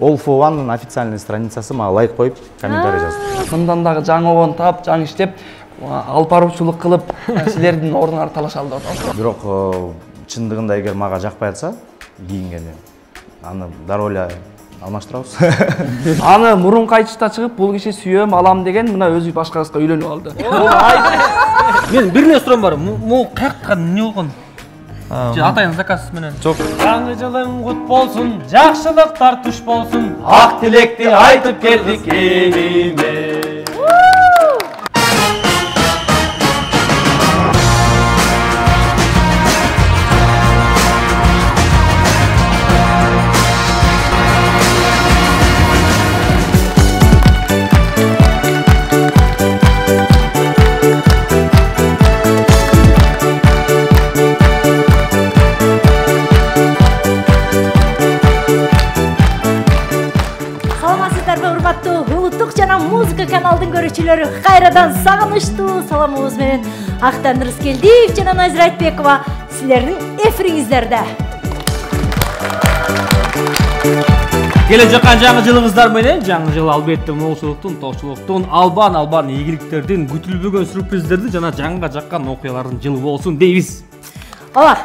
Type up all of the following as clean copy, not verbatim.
All for One'нын официальный страницасы мага лайк коюп, комментарий жазды. Мындан дагы жаңы обон таап, жаңы иштеп, алып баруучулук кылып, силердин ордуңарды талашалды. Бирок чындыгында эгер мага жакпай атса, кийингени, аны дароо эле алмаштырабыз. Аны мурунку айтышта чыгып, бул киши сүйөм, алам деген мына өзү башка кызга үйлөнүп алды. Мен бир эле суроом бар. Могу каяктан эмне болгон? Атайын заказ менен. Жок. Жаңы жылың кут болсун, жакшылыктар туш болсун. Ак тилекти айтып келдик элиме. Музыка каналдын көрүүчүлөрү кайрадан сагынычтуу саламыбыз менен Актан Рыскелдиев жана Назира Айтбекова силердин эфириңиздерде. Келе жаккан жаңы жылыңыздар менен, жаңы жыл албетте молчулуктун, токчулуктун, албан ийгиликтердин, күтүлбөгөн сүрприздерди жана жаңыга жаккан окуялардын жылы болсун дейбиз. Ооба.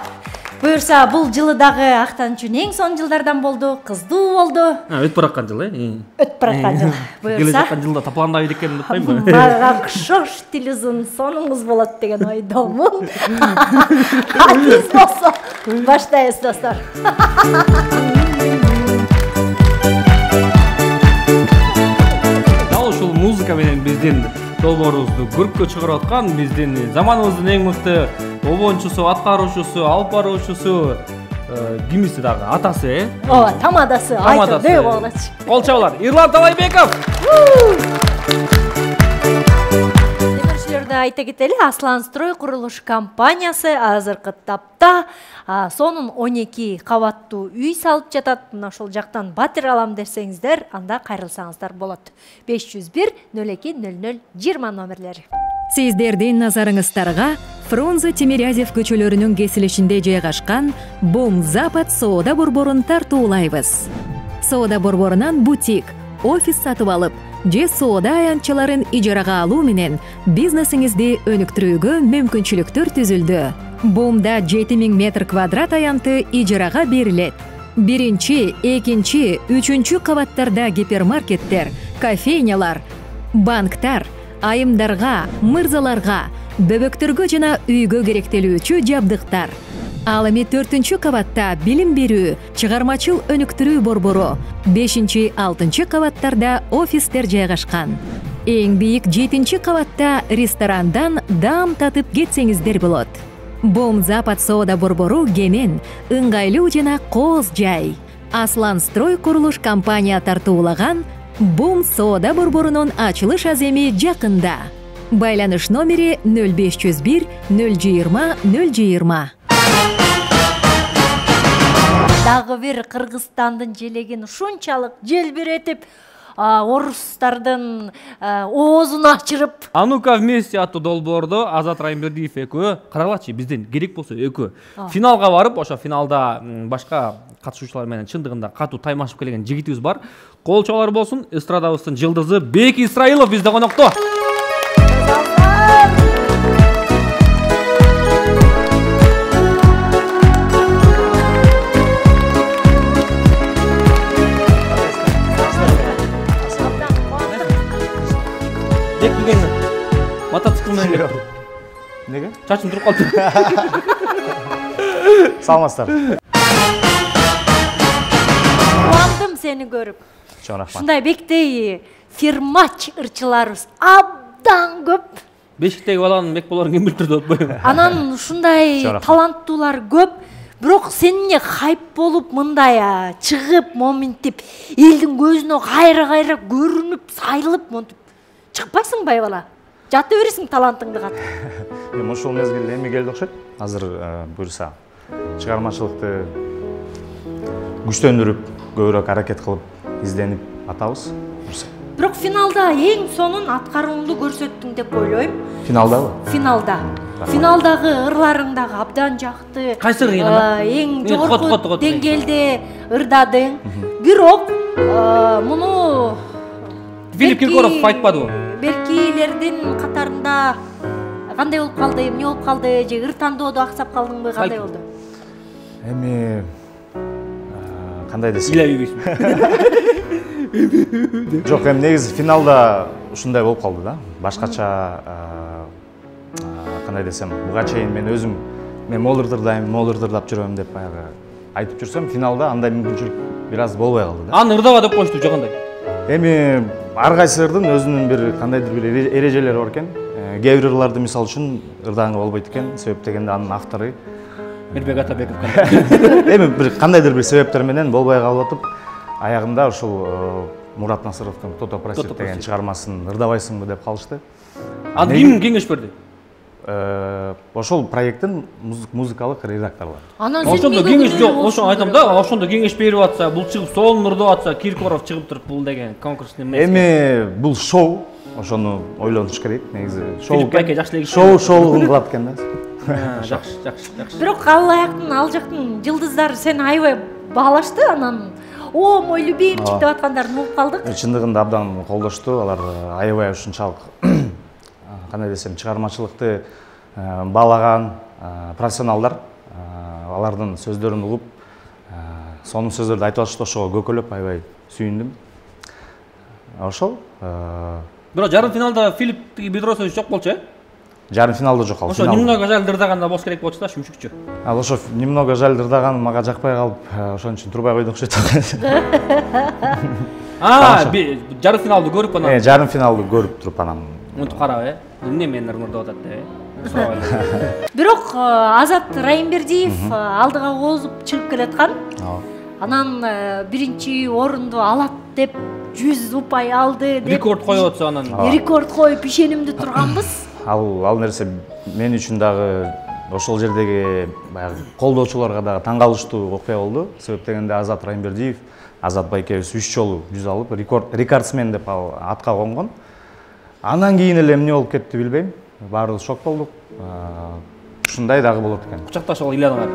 Буюрса, бул жылы дагы Актан үчүн эң сонун жылдардан болду, кыздуу болду. Өтүп бараткан жыл, Өтүп бараткан жыл. Буюрса, келе жаккан жылда тапландабайт экенин утпаймынбы? Мага окшош тил узун сонуңуз болот деген ойдомун. Атиз болсо, баштайбыз достор. Дал ушул музыка менен биздин долбоорубузду көрккө чыгарып аткан биздин заманыбыздын эң мыкты обончусу, аткаруучусу, алып баруучусу, кимиси дагы атасы, Ооба, тамадасы, айтып деп болчу. Кол чабуулар, Ирлан Талайбеков. Демирчилерди айта кетели, Аслан Строй курулуш компаниясы азыркы тапта сонун 12 кабаттуу үй салып жатат. Мына ошол жактан батир алам десеңиздер, анда кайрылсаңыздар болот. 501 02 00 20 номерлери. Сиздердин назарыңыздарга Фрунзе Тимирязев көчөлөрүнүн кесилишинде жайгашкан Бум Запад соода борборун тартуулайбыз. Соода борборунан бутик, офис сатып алып, же соода аянтчаларын ижарага алуу менен бизнесиңизди өнүктүрүүгө мүмкүнчүлүктөр түзүлдү. Бумда 7000 метр квадрат аянты ижарага берилет. 1-2, 3 кабаттарда гипермаркеттер, кофейнялар, банктар, айымдарга, мырзаларга, бөбөктөргө жана үйгө керектелүүчү жабдыктар. Ал эми 4-чү кабатта билим берүү, чыгармачыл өнүктүрүү борбору, 5-6 кабаттарда офистер жайгашкан. Эң бийик 7-чи кабатта ресторандан даам татып кетсеңиздер болот. Бум Запад соода борбору кенен, ыңгайлуу жана кооз жай. Аслан Строй курулуш компания тартуулаган Бум соода борборунун ачылыш аземи жакында. Байланыш номери 0501 020 020. Дагы бир Кыргызстандын желегин ушунчалык желбиретип, орустардын оозун ачырып. Анука вместе аттуу долбоордо Азат Райымбердиев экөө, карагылачы бизден керек болсо экөө финалга барып, ошо финалда башка катышуучулар менен чындыгында катуу таймашып келген жигитибиз бар. Кол чабуулар болсун, эстрадабыздын жылдызы Бек Исраилов бизде конокто. Бек келгенде мотоцикл менен Неге? чачым туруп калды. Саламатсыздар. Кубандым сени көрүп. Чоң рахмат. Ушундай бектей фирмач ырчыларыбыз абдан көп. Бешиктеги баланын бек болорун ким билип турду атпайбы? Анан ушундай таланттуулар көп. Бирок сен хайп болуп мындай чыгып, моминтип, элдин көзүнө кайра көрүнүп, сайылып, монтип чыкпайсың байбала. Жата бересиң талантыңды катып. Эми ушул мезгил эми келди окшойт. Азыр буюрса чыгармачылыкты күчтөндүрүп, көбүрөөк аракет кылып, изденип атабыз. Бирок финалда эң сонун аткарууңду көрсөттүң деп ойлойм. Финалдабы? Финалда. Финалдагы ырларың дагы абдан жакты. Кайсы ыры? Эң жогорку деңгээлде ырдадың. Бирок Филипп Киркоров айтпадыбы? Белгилердин катарында кандай болуп калды, эмне болуп калды, же ыр тандоодо аксап калдыңбы, кандай болду? Эми кандай десем? Илебейсиң. Жок, эми негизи финалда ушундай болуп калды да. Башкача кандай десем, буга чейин мен өзүм мен молырдырдап жүрөм деп баягы айтып жүрсөм, финалда андай мүмкүнчүлүк бир аз болбой калды да. Аны ырдаба деп коюшту же кандай? Эми ар кайсылардын өзүнүн бир кандайдыр бир эрежелери бар экен. Кээ бир ырларды мисалы үчүн ырдаганга болбойт экен. Себеп дегенде анын автору Мирбек Атабеков кандай? эми бир кандайдыр бир себептер менен болбой калып атып, аягында ушул Мурат Насыровдун Тото Просит деген чыгармасын ырдабайсыңбы деп калышты. Аны ким кеңеш берди? Ошол проекттин музыкалык редакторлору. Анан Ошондо кеңеш жок, ошону айтам да, ошондо кеңеш берип атса, бул чыгып сонун ырдап атса, Киркоров чыгып туруп бул деген конкурстун эмеси. Эми бул шоу, ошону ойлонуш керек. Негизи Филипп байке жакшы эле шоу кылат экен да. Жакшы. Бирок ал жактын жылдыздары сени аябай баалашты, анан о, мой любимчик деп аткандарын угуп калдык. Чындыгында абдан колдошту, алар аябай ушунчалык кандай десем, чыгармачылыкты баалаган профессионалдар, алардын сөздөрүн угуп, сонун сөздөрдү айтып атышты, ошого көкөлөп аябай сүйүндүм. Ошол. Бирок жарым финалда Филипп Бедросович жок болчу, э? Жарым финалда жок калды. Ошо немного жаль ырдаганда болуш керек болчу да, шүмшүкчү. Ал ошо немного жаль ырдаган мага жакпай калып, ошон үчүн турбай койду окшойт. Жарым финалды көрүп анан. Жарым финалды көрүп туруп анан Мынтип карап, эмне менин ырдап атат деп, Бирок Азат Райымбердиев алдыга озуп чыгып келаткан. Анан биринчи орунду алат деп 100 упай алды деп рекорд коюп атса анан. Рекорд коюп ишенимдүү турганбыз. Ал нерсе мен үчүн дагы ошол жердеги баягы колдоочуларга дагы таң калыштуу окуя болду. Себеп дегенде Азат Райымбердиев, Азат байкебиз 3 жолу 100 алып, рекордсмен деп атка конгон. Андан кийин эле эмне болуп кетти билбейм. Баарыбыз шок болдук. Ушундай дагы болот экен. Кучакташып ыйланыңар.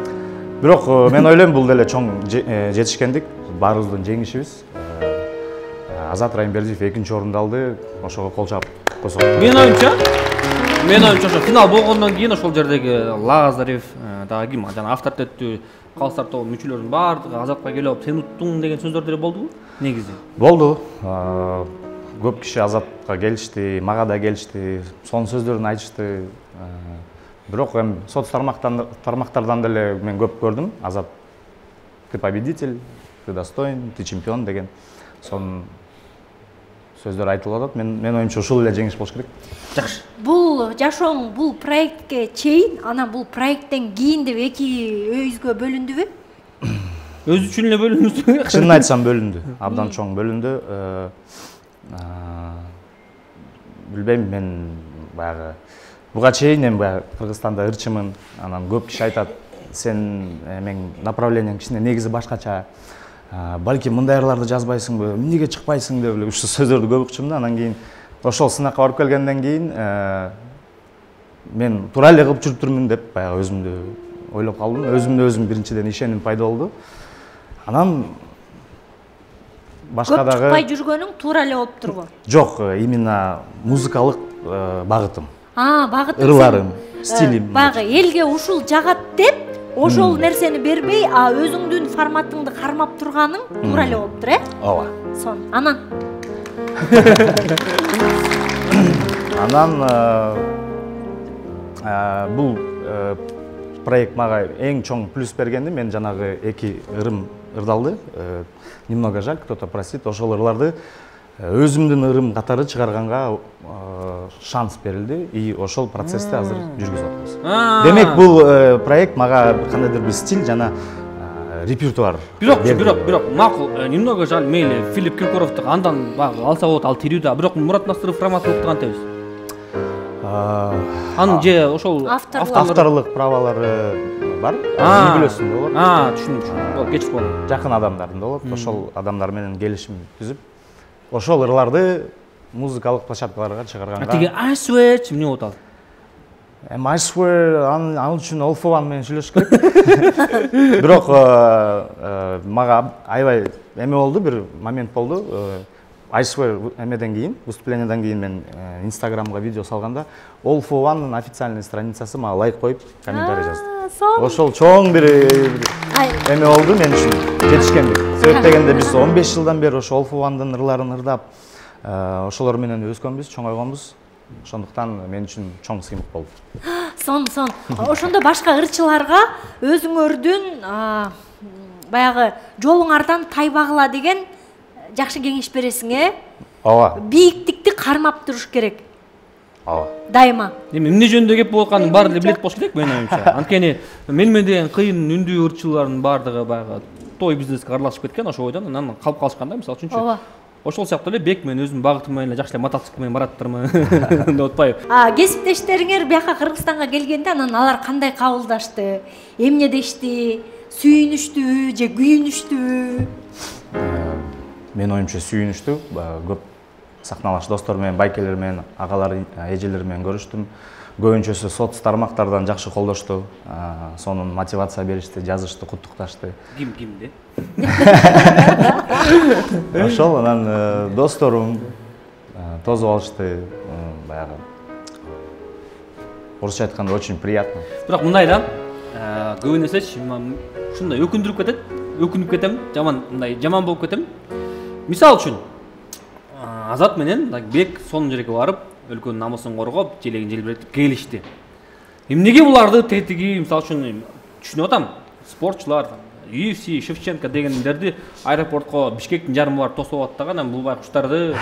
Бирок мен ойлойм бул деле чоң жетишкендик, баарыбыздын жеңишибиз. Азат Райымбердиев 2-нчи орунду алды, ошого кол чаап койсок. Менин оюмча ошо финал болгондон кийин ошол жердеги Лазарев, дагы ким, жана авторитеттүү калыстар тобунун мүчөлөрүнүн баардыгы Азатка келип, сен уттуң деген сөздөр болдубу? Негизи. Болду. Көп киши Азатка келишти, мага да келишти, сонун сөздөрүн айтышты. Бирок эми соц тармактардан деле мен көп көрдүм. Азат, ты победитель, ты достоин, ты чемпион деген сонун сөздөр айтылып атат. Мен оюмча ушул эле жеңиш болуш керек. Жакшы. Бул жашооң бул проектке чейин, анан бул проекттен кийин деп эки өйүзгө бөлүндүбү? Өзү үчүн эле бөлүндү. Чынын айтсам бөлүндү. Абдан чоң бөлүндү. Билбейм, мен баягы буга чейин эми баягы Кыргызстанда ырчымын, анан көп киши айтат, сен эң направленияң кичине негизи башкача. Балки мындай ырларды жазбайсыңбы, эмнеге чыкпайсың деп эле ушул сөздөрдү көп укчум да. Анан кийин ошол сынакка барып келгенден кийин мен туура эле кылып жүрүптүрмүн деп баягы өзүмдү ойлоп калдым. Өзүм биринчиден ишеним пайда болду. Анан башка дагы чыкпай жүргөнүң туура эле болуп турбу? Жок, именно музыкалык багытым. Багытым. Ырларым, стилим. Багы элге ушул жагат деп ошол нерсени бербей, өзүңдүн форматыңды кармап турганың туура эле болуптур, э? Ооба. Анан бул проект мага эң чоң плюс бергенди, мен жанагы эки ырым ырдалды. Немного жаль, кто-то просит. Ошол ырларды өзүмдүн ырым катары чыгарганга шанс берилди и ошол процессти азыр жүргүзүп атабыз. Демек бул проект мага кандайдыр бир стиль жана репертуар. Бирок макул, немного жаль, мейли Филипп Киркоровду андан багы алса болот, ал тирүү да. Бирок Мурат Насыров Раматовду кантебиз? Анын же ошол авторлук правалары бар. Не билесиң болот. Түшүндүм. Кеч болду. Жакын адамдардын болот. Ошол адамдар менен келишим түзүп, ошол ырларды музыкалык площадкаларга чыгарганга. Тиги I swear эмне болот ал? I swear ал үчүн Олфован менен сүйлөшүш керек. Бирок мага аябай эме болду, бир момент болду. айшыбай эмеден кийин, выступленияден кийин мен Инстаграмга видео салганда All for One'нын официальный страницасы мага лайк коюп комментарий жазды. Ошол чоң бир эме болду мен үчүн, жетишкендик. Себеп дегенде биз 15 жылдан бери ошо All for One'дын ырларын ырдап, ошолор менен өскөнбүз, чоңойгонбуз. Ошондуктан мен үчүн чоң сыймык болду. Сон. Ошондо башка ырчыларга өзүңөрдүн баягы жолуңардан тайбагыла деген жакшы кеңеш бересиң, Ооба. Бийиктикти кармап туруш керек. Ооба. Дайыма. Эмне жөнүндө кеп болуп атканын баары билет болуш керек менин оюмча. Анткени менмен деген кыйын үндүү ырчылардын баардыгы баягы той бизнеске аралашып кеткен ошол ойдон анан калып калышканда, мисалы үчүнчү. Ооба. Ошол сыяктуу эле бек мен өзүм багытым менен жакшы эле мотоцикл менен бараттырмын деп атпайбы. Кесиптештериңер бияка Кыргызстанга келгенде анан алар кандай кабылдашты? Эмне дешти? Сүйүнүштүбү же күйүнүштүбү? Мен оюмча сүйүнүштү. Көп сахналаш достор менен, байкелер менен, агалар, эжелер менен көрүштүм. Көбүнчөсү соц тармактардан жакшы колдошту. Сонун мотивация беришти, жазышты, куттукташты. Кимде? Ошол анан досторум тосуп алышты. Баягы орусча айтканда очень приятно. Бирок мындай да, көбүн эсечи ушундай өкүнүп кетем, жаман болуп кетем. Мисалы үчүн Азат менен бек сонун жерге барып, өлкөнүн намысын коргоп, желегин желбиретип келишти. Эмнеге буларды тетиги, мисалы үчүн түшүнүп атам, спортчулар, UFC, Шевченко дегендерди аэропортко Бишкектин жарымы барып тосуп атат дагы, анан бул байкуштарды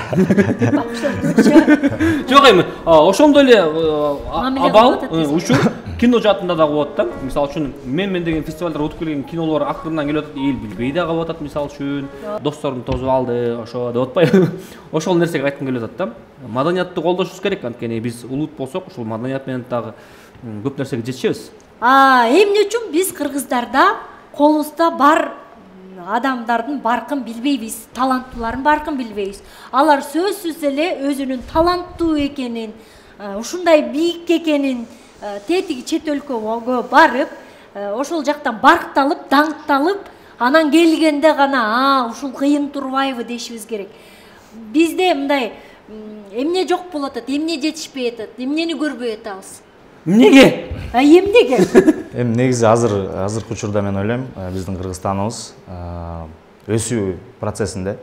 жок эми, ошондой эле абал, учур кино жаатында да болот да. Мисалы үчүн мен деген фестивалдар өтүп келген кинолор акырынан келип атат, эл билбей да калып атат, мисалы үчүн. Досторум тосуп алды, ошо деп атпайбы. Ошол нерсеге айткым келип атат да. Маданиятты колдошубуз керек, анткени биз улут болсок, ушул маданият менен дагы көп нерсеге жетишебиз. Эмне үчүн биз кыргыздарда колубузда бар адамдардын баркын билбейбиз, таланттуулардын баркын билбейбиз. Алар сөзсүз эле өзүнүн таланттуу экенин, ушундай бийик экенин тетиги чет өлкөгө барып, ошол жактан баркталып, даңкталып, анан келгенде гана ушул кыйын турбайбы дешибиз керек. Бизде мындай эмне жок болуп атат, эмне жетишпей атат, эмнени көрбөй атабыз? Эмнеге? Эмнеге? Эми негизи азыркы учурда мен ойлойм, биздин Кыргызстаныбыз өсүү процессинде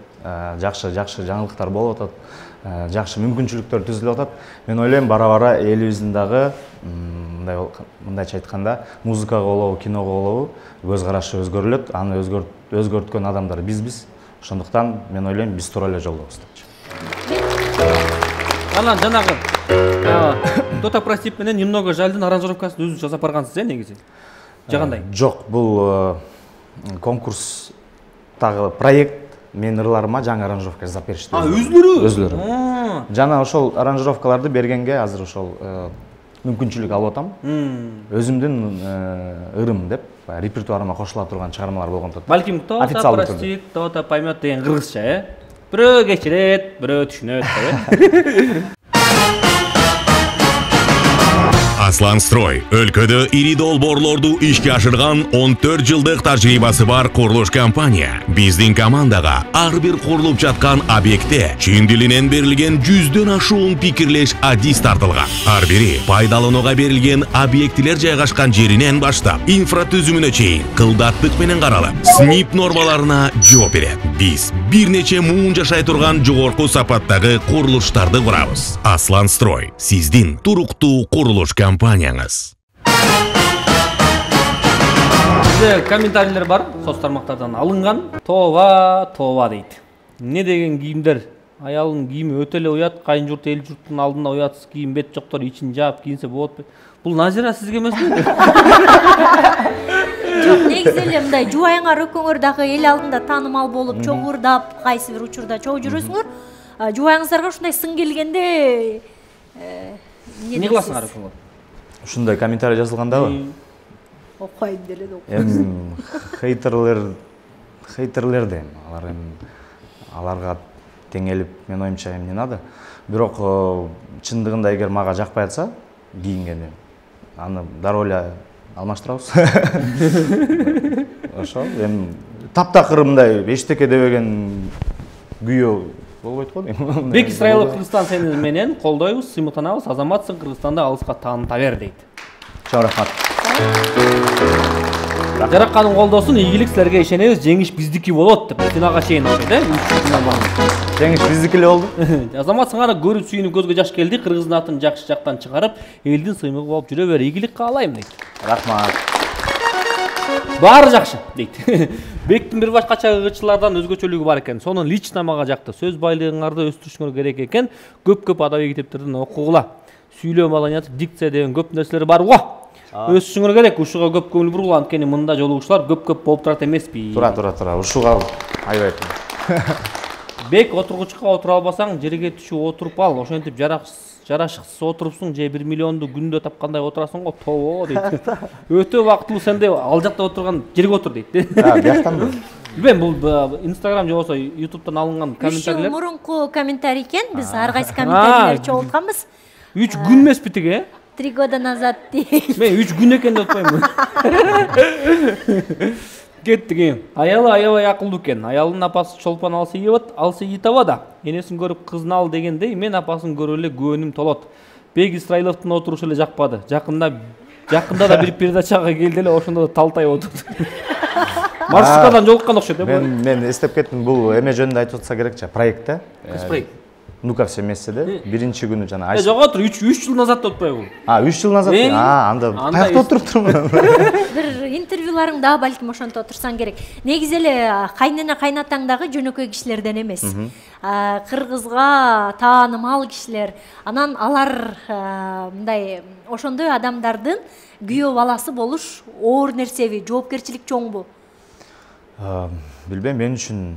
жакшы жаңылыктар болуп атат, жакшы мүмкүнчүлүктөр түзүлүп атат. Мен ойлойм, бара-бара элибиздин дагы мындайча айтканда, музыкага болобу, киного болобу көз карашы өзгөрүлөт. Аны өзгөрткөн адамдар бизбиз. Ошондуктан мен ойлойм, биз туура эле жолдобуз депчи. Анан жанагы Тота Простип менен немного жальдын аранжировкасын өзүңүз жасап баргансыз, негизи? Же кандай? Жок, бул конкурстагы проект мен ырларыма жаңы аранжировка жасап беришти. Өзүлөрү. Жана ошол аранжировкаларды бергенге азыр ошол мүмкүнчүлүк алып атам. Өзүмдүн ырым деп репертуарыма кошула турган чыгармалар болгондо. Балким Тота Простип, Тота поймет деген кыргызча, бирөө кечирет, бирөө түшүнөт, Аслан Строй өлкөдө ири долбоорлорду ишке ашырган 14 жылдык тажрыйбасы бар курулуш компания. Биздин командага ар бир курулуп жаткан объектте чын дилинен берилген 100дөн ашуун пикирлеш адис тартылган. Ар бири пайдаланууга берилген объектилер жайгашкан жеринен баштап инфратүзүмүнө чейин кылдаттык менен каралып, СНИП нормаларына жооп берет. Биз бир нече муун жашай турган жогорку сапаттагы курулуштарды курабыз. Аслан Строй сиздин туруктуу курулуш компанияңыз. Бизде комментарийлер бар, соц тармактардан алынган. Тооба дейт. Эмне деген кийимдер? Аялдын кийими өтө эле уят, кайын журт, эл журттун алдында уятсыз кийим, бет жоктор ичин жаап кийинсе болот. Бул Назира сизге эмеспи? Жок, негизи эле мындай жубайыңар экөөңөр дагы эл алдында таанымал болуп, чогурдап, кайсы бир учурда чогуу жүрөсүңөр. Жубайыңыздарга ушундай сын келгенде эмне кыласыңар экөөңөр? Ушундай комментарий жазылгандабы? Окуйм деле деп. Эми хейтерлер дейм. Аларга теңелип, мен оюмча эмне надо. Бирок чындыгында эгер мага жакпай атса, кийингени, аны дароо эле алмаштырабыз. Ошол эми таптакыр мындай эчтеке дебеген күйөө болбойт го дейм. Бек Исраилов Кыргызстан сени менен колдойбуз, сыймыктанабыз. Азаматсың, Кыргызстанды алыска тааныта бер дейт. Чоң рахмат. Жаракканын колдосун, ийгилик силерге ишенебиз, жеңиш биздики болот деп финалга чейин окшойт, Жеңиш биздики эле болду. Азамат сага көрүп сүйүнүп көзгө жаш келди, Кыргыздын атын жакшы жактан чыгарып, элдин сыймыгы болуп жүрө бер, ийгилик каалайм дейт. Рахмат. Баары жакшы дейт. Бектин бир башкача ыргычылардан өзгөчөлүгү бар экен. Сонун лично мага жакты. Сөз байлыгыңарды өстүрүшүңөр керек экен. Көп адабий китептерден окугула. Сүйлөө маданияты, дикция деген көп нерселер бар го. Өсүшүңөр керек, ушуга көп көңүл бургула, анткени мында жолугушуулар көп болуп турат эмеспи. Тура. Ушуга аябай. Бек отургучка отура албасаң, жерге түшүп отуруп ал. Ошентип жарашыксыз отурупсуң, же 1 миллионду күндө тапкандай отурасың го, тобо дейт. Өтө убактылуу сенде ал жакта отурган жерге отур дейт. Бияктанбы? Билбейм, бул Instagram же болсо YouTube'дан алынган комментарийлер. 3 жыл мурунку комментарий экен, биз ар кайсы комментарийлерди чогултканбыз. 3 күн эмеспи тиги? 3 года назад дейт. Мен 3 күн экен деп атпаймынбы? Кеттик. Аялы аябай акылдуу экен. Аялдын апасы чолпон алсы итабада. Энесин көрүп кызын ал дегендей, мен апасын көрүп эле көөнүм толот. Бек Исраиловдун отурушу эле жакпады. Жакында да бир передачага келди эле, ошондо да талтай отурду. Маршруткадан жолуккан окшойт, Мен эстеп кеттим, бул эме жөнүндө айтып атса керек, проектте. Кайсы проект? Ну-ка все вместе да. Биринчи күнү жана. Жок отур, 3 жыл назад деп атпайбы? 3 жыл назад. Анда каякта отуруптурмун? Бир интервьюларың да балким ошонто отурсаң керек. Негизи эле кайнена кайнатаң дагы жөнөкөй кишилерден эмес. Кыргызга таанымал кишилер. Анан алар мындай ошондой адамдардын күйөө баласы болуш оор нерсеби, жоопкерчилик чоңбу? Билбейм, мен үчүн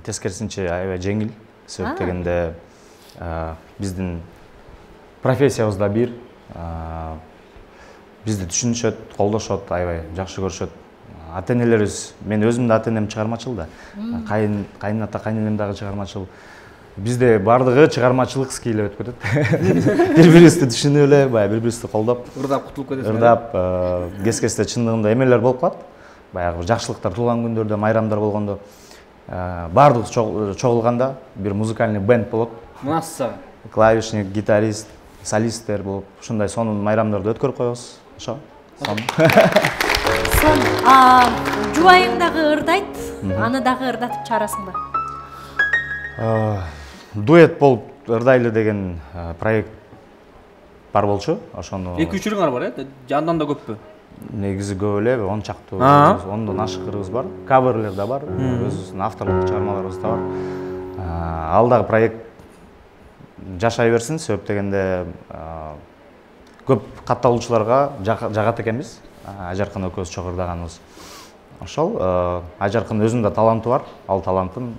тескерисинче аябай жеңил. Себеп дегенде биздин профессиябызда бир, бизди түшүнүшөт, колдошот, аябай жакшы көрүшөт. Ата-энелерибиз, мен өзүм да ата-энем чыгармачыл да. Кайната, кайненем дагы чыгармачыл. Бизде бардыгы чыгармачылык скиле өтүп кетет. Бири-бирибизди түшүнүп эле, баягы бири-бирибизди колдоп, ырдап кутулуп кетесиң. Ырдап, кез-кезде чындыгында эмелер болуп калат. Баягы жакшылыктар, туулган күндөрдө, майрамдар болгондо бардыгы чогулганда бир музыкальный бенд болот. Масса. Клавишник, гитарист, солисттер болуп, ушундай сонун майрамдарды өткөрүп коебуз. Ошо. Жубайың дагы ырдайт, аны дагы ырдатып чыгарасыңбы? Дуэт болуп ырдайлы деген проект бар болчу. Ошону 2-3-үңөр бар, жандан да көппү? Негизи көп эле, 10 чактуу, 10дон ашыгырыбыз бар. Каверлер да бар, өзүбүздүн авторлук чыгармаларыбыз да бар. Ал дагы проект жашай берсин, себеп дегенде көп катталуучуларга жагат экенбиз. Ажаркын экөөбүз чогуу ырдаганыбыз. Ошол Ажаркын өзүнүн да таланты бар. Ал талантын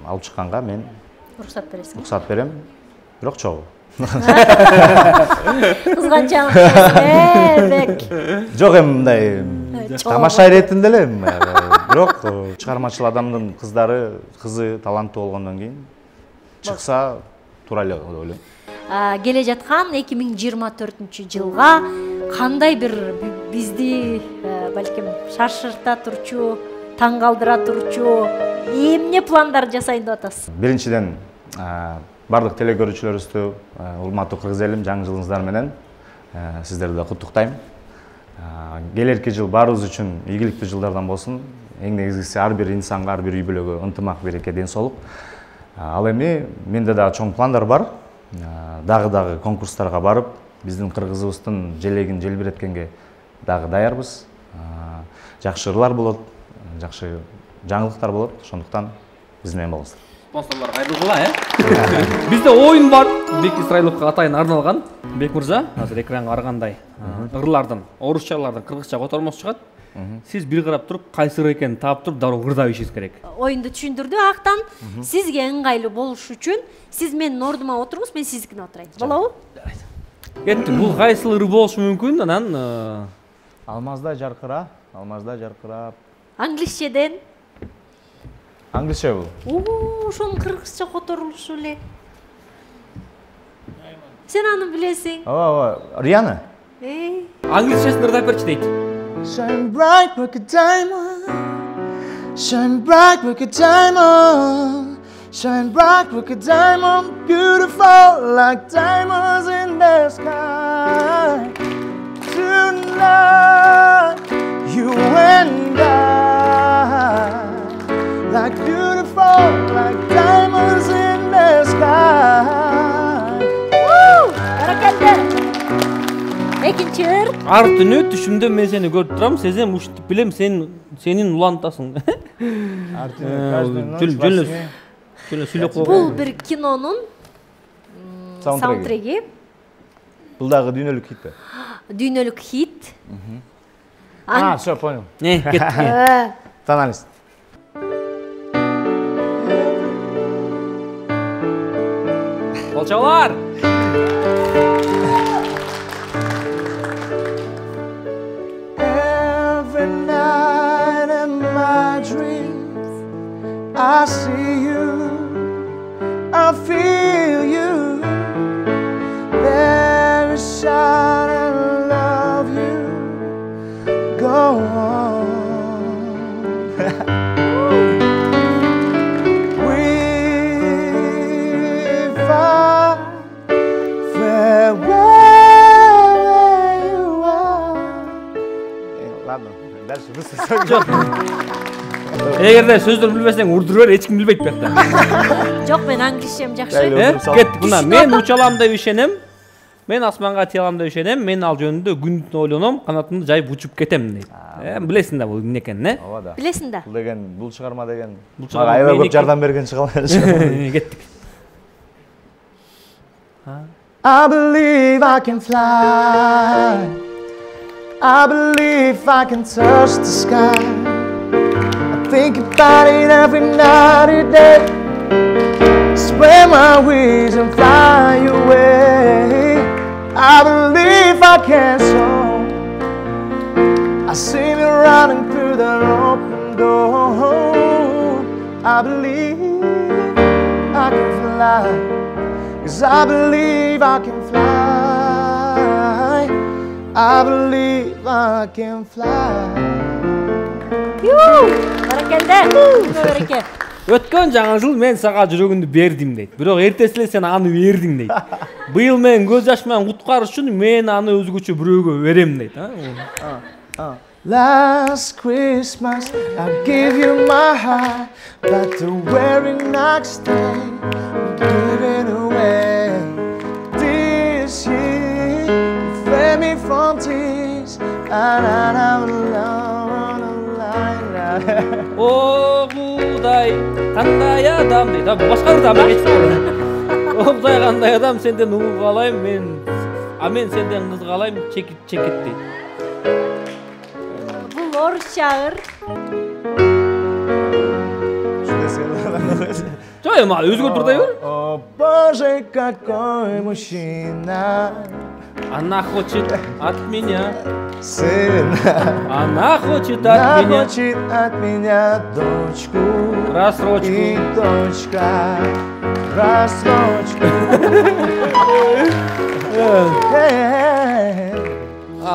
алып чыкканга мен уруксат бересиң. Уруксат берем. Бирок чогуу. Кызганчаң Бек. Жок, мындай тамаша иретинде эле, бирок чыгармачыл адамдын кызы таланттуу болгондон кийин чыкса туура эле деп ойлойм. Келе жаткан 2024-жылга кандай бир бизди балким шаршырта турчу, таң калтыра турчу эмне пландар жасайын деп атасыз? Биринчиден бардык телекөрүүчүлөрүбүздү, урматтуу кыргыз элим, жаңы жылыңыздар менен сиздерди да куттуктайм. Келерки жыл баарыбыз үчүн ийгиликтүү жылдардан болсун. Эң негизгиси ар бир инсанга, ар бир үй бүлөгө ынтымак, береке, ден соолук. Ал эми менде дагы чоң пландар бар. Дагы конкурстарга барып, биздин кыргызыбыздын желегин желбиреткенге дагы даярбыз. Жакшы ырлар болот, жакшы жаңылыктар болот. Ошондуктан биз менен болуңуздар. Спонсорлор кайрылгыла, Бизде оюн бар, Бек Исраиловго атайын арналган. Бек мырза, азыр экранга карагандай ырлардын, орусчалардын кыргызча котормосу чыгат. Сиз бир карап туруп, кайсы ыр экенин таап туруп, дароо ырдап ишиңиз керек. Оюнду түшүндүрдү. Актан сизге ыңгайлуу болуш үчүн сиз менин ордума отуруңуз, мен сиздикине отурайын. Болобу? Кетти. Бул кайсы ыры болушу мүмкүн? Анан Алмазда жаркыра, алмазда жаркырап. Англисчеден. Англисче бул. Ошонун кыргызча которулушу эле. Сен аны билесиң. Ооба, Риана. англисчесин ырдап берчи дейт. Shine bright like a diamond. Shine bright like a diamond. shine bright like a diamond, beautiful like diamonds in the sky. Tonight, you and I, like beautiful like diamonds in the sky. Woo! Баракалды. Экинчи ыр. Ар түнү түшүмдө мен сени көрүп турам, сезем, ушинтип билем, сенин улантасың. Жөн сүйлөп койгон. Бул бир кинонун саундтреги. Бул дагы дүйнөлүк хит. Дүйнөлүк хит. Все, понял. Не, кетти. Тоналист. Колчалар. Every night in my dreams, I see you, I feel you. There is shine and love you. Go on. We find farewell you are. Ладно, дальше вы Эгерде сөздөрүн билбесең урдура бер, эч ким билбейт бакта. Жок, мен англисчем жакшы. Кеттик мына, мен учалам деп ишенем. Мен асманга тиялам деп ишенем. Мен ал жөнүндө күн түн ойлоном, канатымды жайып учуп кетем дейт. Билесиң да бул эмне экенин, Ооба да. Билесиң да. Бул деген, бул чыгарма деген. чыгарма Мага аябай көп меники. жардам берген чыгарма. Кеттик. I believe I can fly. I believe I can touch the sky. I think about it every night and day. Spread my wings and fly away. I believe I can soar. I see me running through the open door. I believe I can fly. 'Cause I believe I can fly. I believe I can fly. Баракалды. Береке. Өткөн жаңы жыл мен сага жүрөгүмдү бердим дейт. Бирок эртеси эле сен аны бердиң дейт. Быйыл мен көз жаш менен куткарыш үчүн мен аны өзгөчө бирөөгө берем дейт. Last Christmas I gave you my heart, but the very next day give it away. This year you saved me from tears, and I'm alone on the line. О Кудай, кандай адам дейт. Башка бир адам кетти. О Кудай, кандай адам, сенден угуп калайм мен. Мен сенден кыз калайм, чекит дейт. Бул орусча ыр. Жок, эми өзгөртүрдөй бер. О Боже, какой мужчина. Она хочет от меня. Сын. Она хочет Она от меня. хочет от меня дочку. Рассрочку. И дочка. Рассрочку.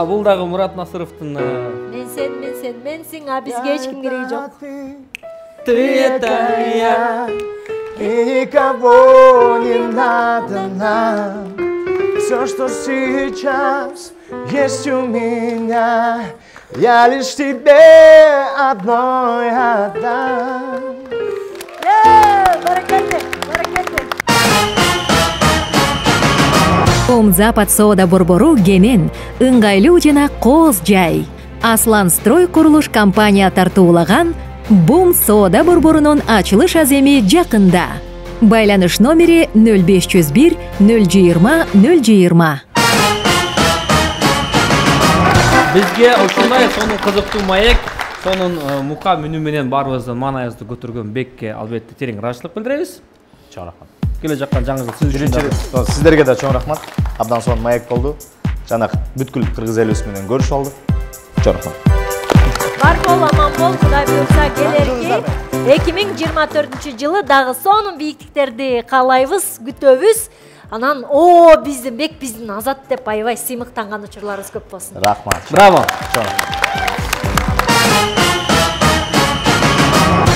Бул дагы Мурат Насыровдун. Менсиң, а бизге эч ким кереги жок. Ты это я. И никого не надо нам. Все, что сейчас есть у меня, я лишь тебе одной отдам. Баракалды. Бум Запад соода борбору кенен, ыңгайлуу жана кооз жай. Аслан строй курулуш компания тартуулаган Бум соода борборунун ачылыш аземи жакында. Байланыш номери 0501 020 020. Бизге ушундай сонун кызыктуу маек, сонун мука мүнү менен баарыбыздын маанайыбызды көтөргөн Бекке албетте терең ыраазычылык билдиребиз. Чоң рахмат. Келе жаккан жаңы жыл сиз үчүн. Сиздерге да чоң рахмат. Абдан сонун маек болду. Жана бүткүл кыргыз элибиз менен көрүшүп алдык. Чоң рахмат. Бар бол, аман бол, Кудай буйрса келерки 2024-жылы дагы сонун бийиктиктерди каалайбыз, күтөбүз. Анан биздин Бек, биздин Азат деп аябай сыймыктанган учурларыбыз көп болсун. Рахмат. Браво.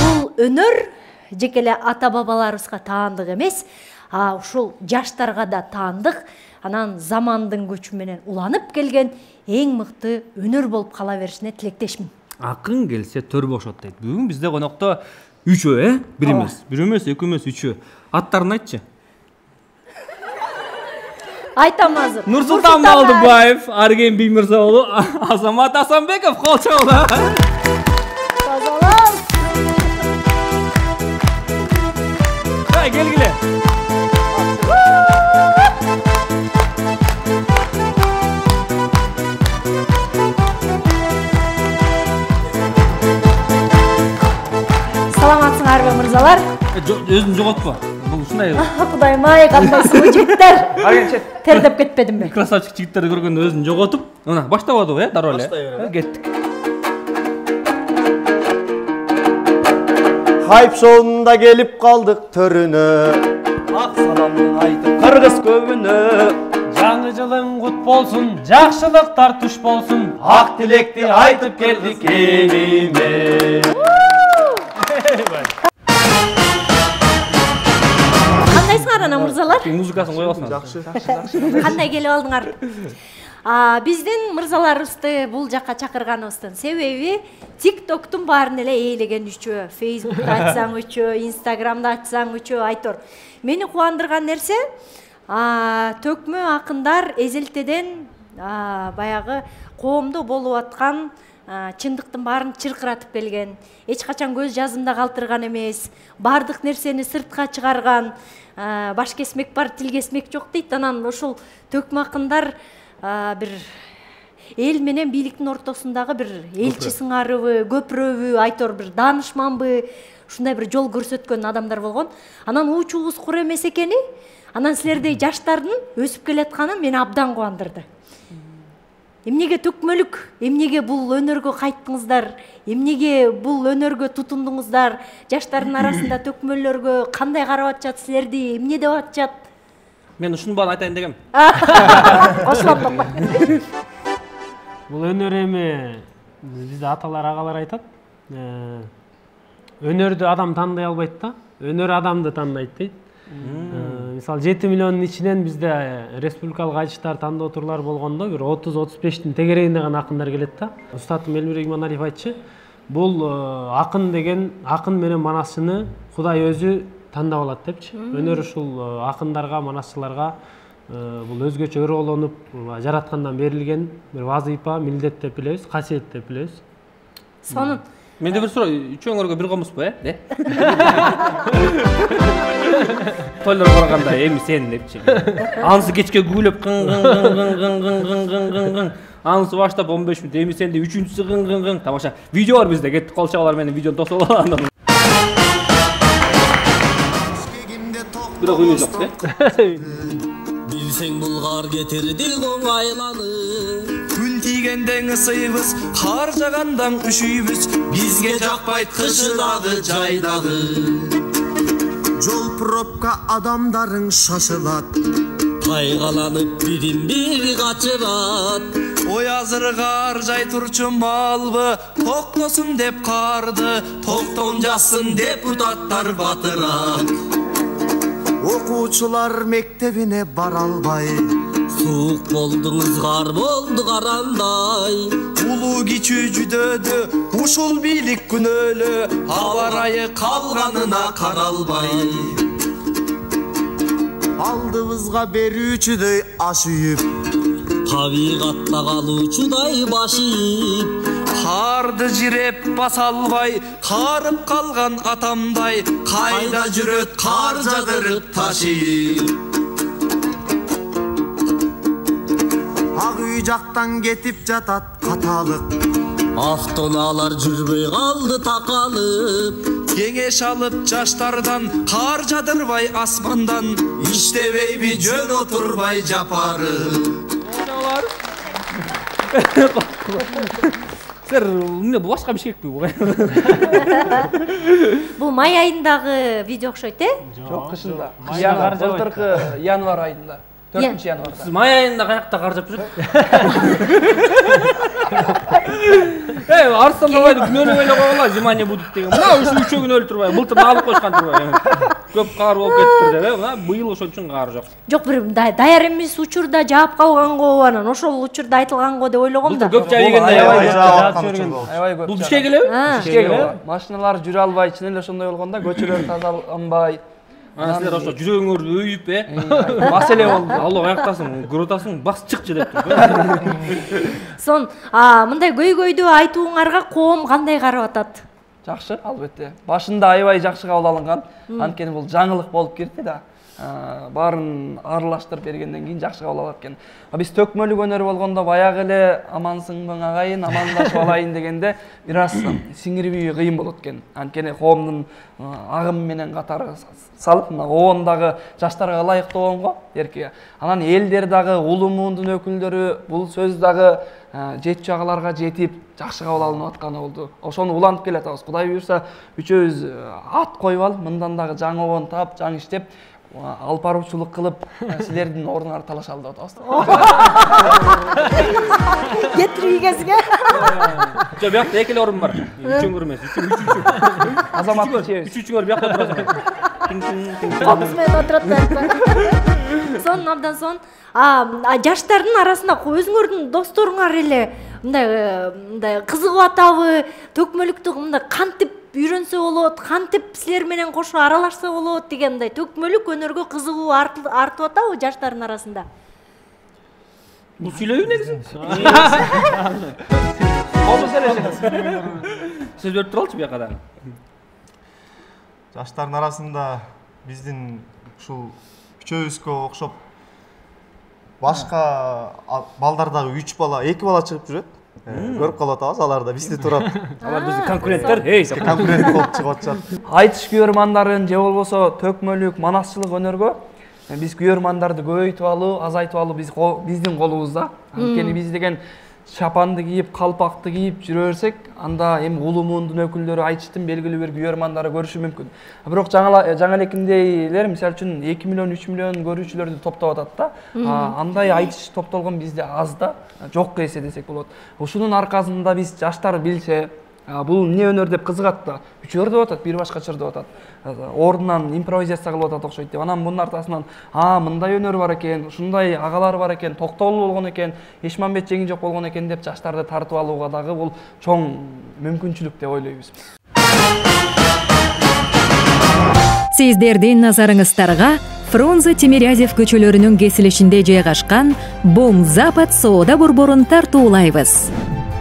Бул өнөр жеке эле ата бабаларыбызга таандык эмес, ушул жаштарга да таандык, анан замандын көчү менен уланып келген эң мыкты өнөр болуп кала беришине тилектешмин. Акын келсе төр бошот дейт. Бүгүн бизде конокто үчөө, бир эмес, экөө эмес, үчөө. Аттарын айтчы. Айтам азыр. Нурсултан Малдыбаев, Арген Биймирза уулу, Азамат Асанбеков кол чабуулар. Тазалап. Келгиле. Саламатсыңарбы мырзалар? Өзүн жоготпо. Бул ушундай. Кудайым ай, кандайсыңбы жигиттер? Тердеп кетпедимби? Красавчик жигиттерди көргөндө өзүн жоготуп, мына баштабадыбы, дароо эле. Кеттик. Хайп шоунда келип калдык төрүнө. Ак саламды айтып кыргыз көбүнө. Жаңы жылың кут болсун, жакшылыктар туш болсун. Ак тилекти айтып келдик элиме. Кандайсыңар ана мырзалар? Музыкасын коюп алсаңыз. Жакшы. Кандай келип алдыңар? Биздин мырзаларыбызды бул жакка чакырганыбыздын себеби TikToктун баарын эле ээлеген үчөө, Facebook'та айтсаң үчөө, Instagram'да айтсаң үчөө айтор. Мени кубандырган нерсе, төкмө акындар эзелтеден баягы коомдо болуп аткан чындыктын баарын чыркыратып келген, эч качан көз жазымда калтырган эмес, бардык нерсени сыртка чыгарган, баш кесмек бар, тил кесмек жок дейт. Анан ушул төкмө акындар бир эл менен бийликтин ортосундагы бир элчи сыңарыбы, көпүрөбү, айтор бир даанышманбы, ушундай бир жол көрсөткөн адамдар болгон. Анан уучубуз кур эмес экени, анан силердей жаштардын өсүп келатканы мени абдан кубандырды. Эмнеге төкмөлүк, эмнеге бул өнөргө кайттыңыздар, эмнеге бул өнөргө тутундуңуздар, жаштардын арасында төкмөлөргө кандай карап атышат силерди, эмне деп атышат? Мен ушунун баарын айтайын дегем. Кошулам. Бул өнөр эми бизде аталар, агалар айтат. Өнөрдү адам тандай албайт да, өнөр адамды тандайт дейт. Мисалы 7 миллиондун ичинен бизде республикалык айтыштар тандоо турлар болгондо бир 30-35тин тегерегинде гана акындар келет да. Устатым Элмирбек Иманалиев айтчы, бул акын деген акын менен манасчыны Кудай өзү тандап алат депчи. Өнөр ушул акындарга, манасчыларга бул өзгөчө өрөөлөнүп жараткандан берилген бир вазыйфа, милдет деп билебиз, касиет деп билебиз. Сонун. Менде бир суроо, үчөөңөргө бир комузбу, Тойлор барганда эми сен депчи. Анысы кечке күлөп кың. Анысы баштап 15 мүнөт, эми сенде үчүнчүсү кың. Тамаша. Видео бар бизде, кеттик кол чабалар менен видеону тосуп алган. Бирок үнү жок, Билсең булгар кетирди оңайланып. Күн тийгенден ысыйбыз, кар жагандан үшүйбүз. Бизге жакпайт кышы дагы, жай дагы. Жол пробка адамдарың шашылат. Кайгаланып бирин-бири качырат. Ой азыр кар жай турчу малбы, токтосун деп карды, токтон жазсын депутаттар батырат. Окуучулар мектебине бара албай, суук болдуңуз, кар болду карандай. Улуу кичүү жүдөдү, ушул бийлик күнөөлө, аба ырайы калганына каралбай. Алдыбызга берүүчүдөй аш үйүп, табигатта калуучудай баш ийип. Карды жиреп баса албай, карып калган атамдай, кайда жүрөт кар жадырып ташыйып. Ак үй жактан кетип жатат каталык, автоунаалар жүрбөй калды такалып. Кеңеш алып жаштардан, кар жадырбай асмандан, иштебейби жөн отурбай жапарып. Сер, эмне бул башка Бишкекпи бул? Бул май айындагы видео окшойт, Жок, кышында. Былтыркы январь айында. 4-январда. Сиз май айында каякта кар жап жүрөт? Арыстан бабайды күнөөлүү ойлоп койгула, внимание будет деген. Мына ушу үчөөгүн өлтүрбөй, былтыр алып койушкан турбай. Көп каар болуп кетиптир деп, мына быйыл ошон үчүн каар жок. Жок, бир даяр эмес учурда жаап калганго, анан ошол учурда айтылганго деп ойлогом да. Көп жаап эгенде Аябай көп. Бул бишке келеби? Бишке келеби. Машиналар жүрө албай, чын эле ошондой болгондо көчөлөр тазаланбай. Силер ошо жүрөгүңөрдү өйүп, маселе болду. Алла аяктасың, көрүп атасың, бас чыкчы деп. Сон, мындай көйгөйдү айтууңарга коом кандай карап атат? Жакшы, албетте. Башында аябай жакшы кабыл алынган. Анткени бул жаңылык болуп кирди да. Баарын аралаштырып бергенден кийин жакшы кабыл алат экен. Биз төкмөлүк өнөр болгондо баягы эле амансыңбы агайын, амандашып алайын дегенде бир аз сиңирүү кыйын болот экен. Анткени коомдун агым менен катары салып, мына обондагы жаштарга ылайыктоого эрке. Анан элдер дагы, улуу муундун өкүлдөрү бул сөз дагы жетчү агаларга жетип, жакшы кабыл алынып атканы болду. Ошону улантып келатабыз. Кудай буйрса, үчөөбүз ат коюп алып, мындан дагы жаңы обон таап, жаңы иштеп, алып баруучулук кылып, силердин ордуңарды талашалы деп атабыз. Кетирип ийгесиңе. Жок, биякта эки эле орун бар. Үчөңөр эмес, үчү. Азамат чебиз. Үчүңөр биякта турасыңар. Комуз менен отурат. Сон абдан сон, жаштардын арасында өзүңөрдүн досторуңар эле мындай кызыгып атабы, төкмөлүктү мындай кантип үйрөнсө болот, кантип силер менен кошо аралашса болот деген мындай төкмөлүк өнөргө кызыгуу артып атабы жаштардын арасында? Бул сүйлөбү негизи. Болду сөйлөшөбүз. Сөз берип туралычы бияка дагы. Жаштардын арасында биздин ушул үчөөбүзгө окшоп башка балдар дагы 3 бала, 2 бала чыгып жүрөт. Көрүп калып атабыз, алар да бизди турат. Алар биздин конкуренттер. Конкурент болуп чыгып атышат. Айтыш күйөрмандарын же болбосо төкмөлүк, манасчылык өнөргө биз күйөрмандарды көбөйтүп алуу, азайтып алуу биздин колубузда. Анткени биз деген шапанды кийип, калпакты кийип жүрө берсек, анда эми улуу муундун өкүлдөрү айтыштын белгилүү бир күйөрмандары көрүшү мүмкүн. Бирок жаңа элекиндейлер мисалы үчүн 2 миллион, 3 миллион көрүүчүлөрдү топтоп атат да. Андай айтыш топтолгон бизде аз да, жокко эсе десек болот. Ушунун аркасында биз жаштар билсе, бул эмне өнөр деп кызыгат да. Үчөр деп атат, бир башкача деп атат. Ордунан импровизация кылып атат окшойт деп. Анан мунун артасынан, мындай өнөр бар экен, ушундай агалар бар экен, Токтогул болгон экен, Эшмамбет жеңи жок болгон экен деп жаштарды тартып алууга дагы бул чоң мүмкүнчүлүк деп ойлойбуз. Сиздердин назарыңыздарга Фрунзе Тимирязев көчөлөрүнүн кесилишинде жайгашкан Бум Запад соода борборун тартуулайбыз.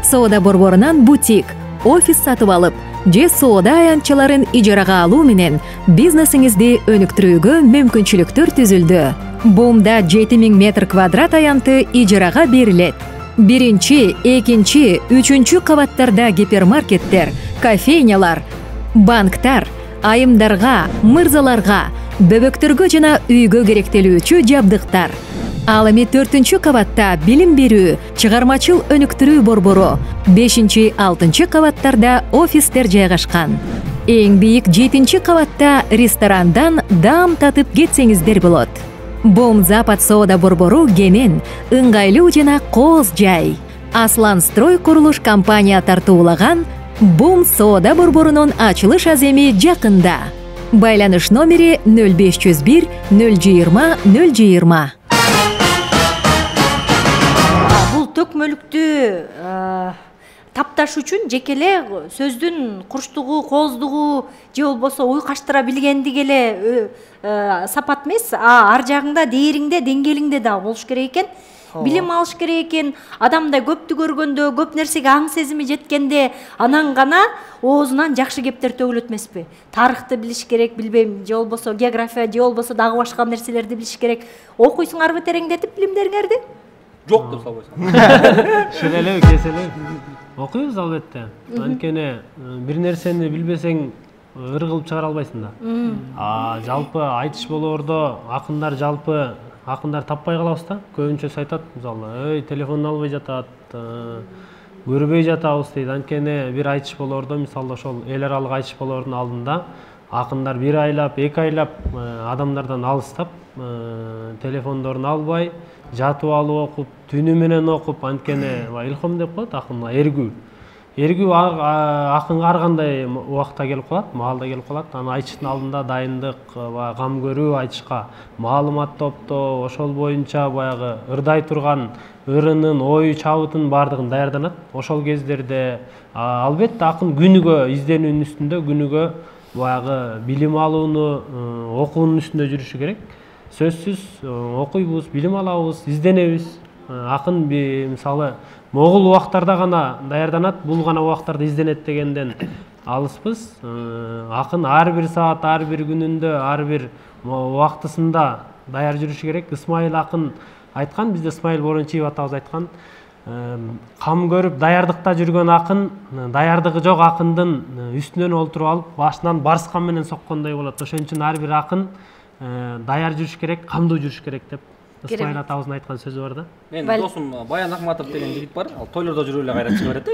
Соода борборунан бутик, офис сатып алып, же соода аянтчаларын ижарага алуу менен бизнесиңизди өнүктүрүүгө мүмкүнчүлүктөр түзүлдү. Бумда 7000 метр квадрат аянты ижарага берилет. 1-2, 3 кабаттарда гипермаркеттер, кофейнялар, банктар, айымдарга, мырзаларга, бөбөктөргө жана үйгө керектелүүчү жабдыктар. Ал эми 4 кабатта билим берүү, чыгармачыл өнүктүрүү борбору, 5-6 кабаттарда офистер жайгашкан. Эң бийик 7 кабатта ресторандан даам татып кетсеңиздер болот. Бум Запад соода борбору кенен, ыңгайлуу жана кооз жай. Аслан Строй курулуш компания тартуулаган Бум соода борборунун ачылыш аземи жакында. Байланыш номери 0501 020 020. Бул төкмөлүктү тапташ үчүн жеке эле сөздүн курчтугу, кооздугу же болбосо уйкаштыра билгендиги эле сапат эмес, ар жагыңда дээриңде, деңгээлиңде да болуш керек экен. Билим алыш керек экен. Адамда көптү көргөндө, көп нерсеге аң сезими жеткенде, анан гана оозунан жакшы кептер төгүлөт эмеспи? Тарыхты билиш керек, билбейм, же болбосо география, же болбосо дагы башка нерселерди билиш керек. Окуйсуңарбы тереңдетип билимдериңерди? Жок деп салбайсың. Шелелеу, кеселеу. Окуйбуз албетте. Анткени бир нерсени билбесең ыр кылып чыгара албайсың да. Жалпы айтыш болоордо акындар таппай калабыз да. Көбүнчөсү айтат, мисалы, телефонду албай жатат, көрбөй жатабыз дейт. Анткени бир айтыш болоордо, мисалы ошол эл аралык айтыш болоордун алдында акындар 1 айлап, 2 айлап адамдардан алыстап, телефондорун албай, жатып алып окуп, түнү менен окуп, анткени илхом деп коет акын, эргүү. Эргүү акынга ар кандай убакта келип калат, маалда келип калат. Аны айтыштын алдында дайындык, кам көрүү, айтышка маалымат топтоо, ошол боюнча баягы ырдай турган ырынын, ою, чабытын баардыгын даярданат. Ошол кездерде албетте акын күнүгө изденүүнүн үстүндө, күнүгө баягы билим алууну, окуунун үстүндө жүрүшү керек. Сөзсүз окуйбуз, билим алабыз, изденебиз. Акын мисалы могул убактарда гана даярданат, бул гана убактарда изденет дегенден алыспыз. Акын ар бир саат, ар бир күнүндө, ар бир убактысында даяр жүрүшү керек. Исмаил акын айткан, бизде Исмаил Борончиев атабыз айткан, кам көрүп даярдыкта жүргөн акын, даярдыгы жок акындын үстүнөн олтуруп алып, башынан барскан менен соккондой болот. Ошон үчүн ар бир акын даяр жүрүш керек, камдуу жүрүш керек деп Исмаил атабыздын айткан сөзү бар да. Менин досум Баян Акматов деген жигит бар, ал тойлордо жүрүп эле кайра чыга берет.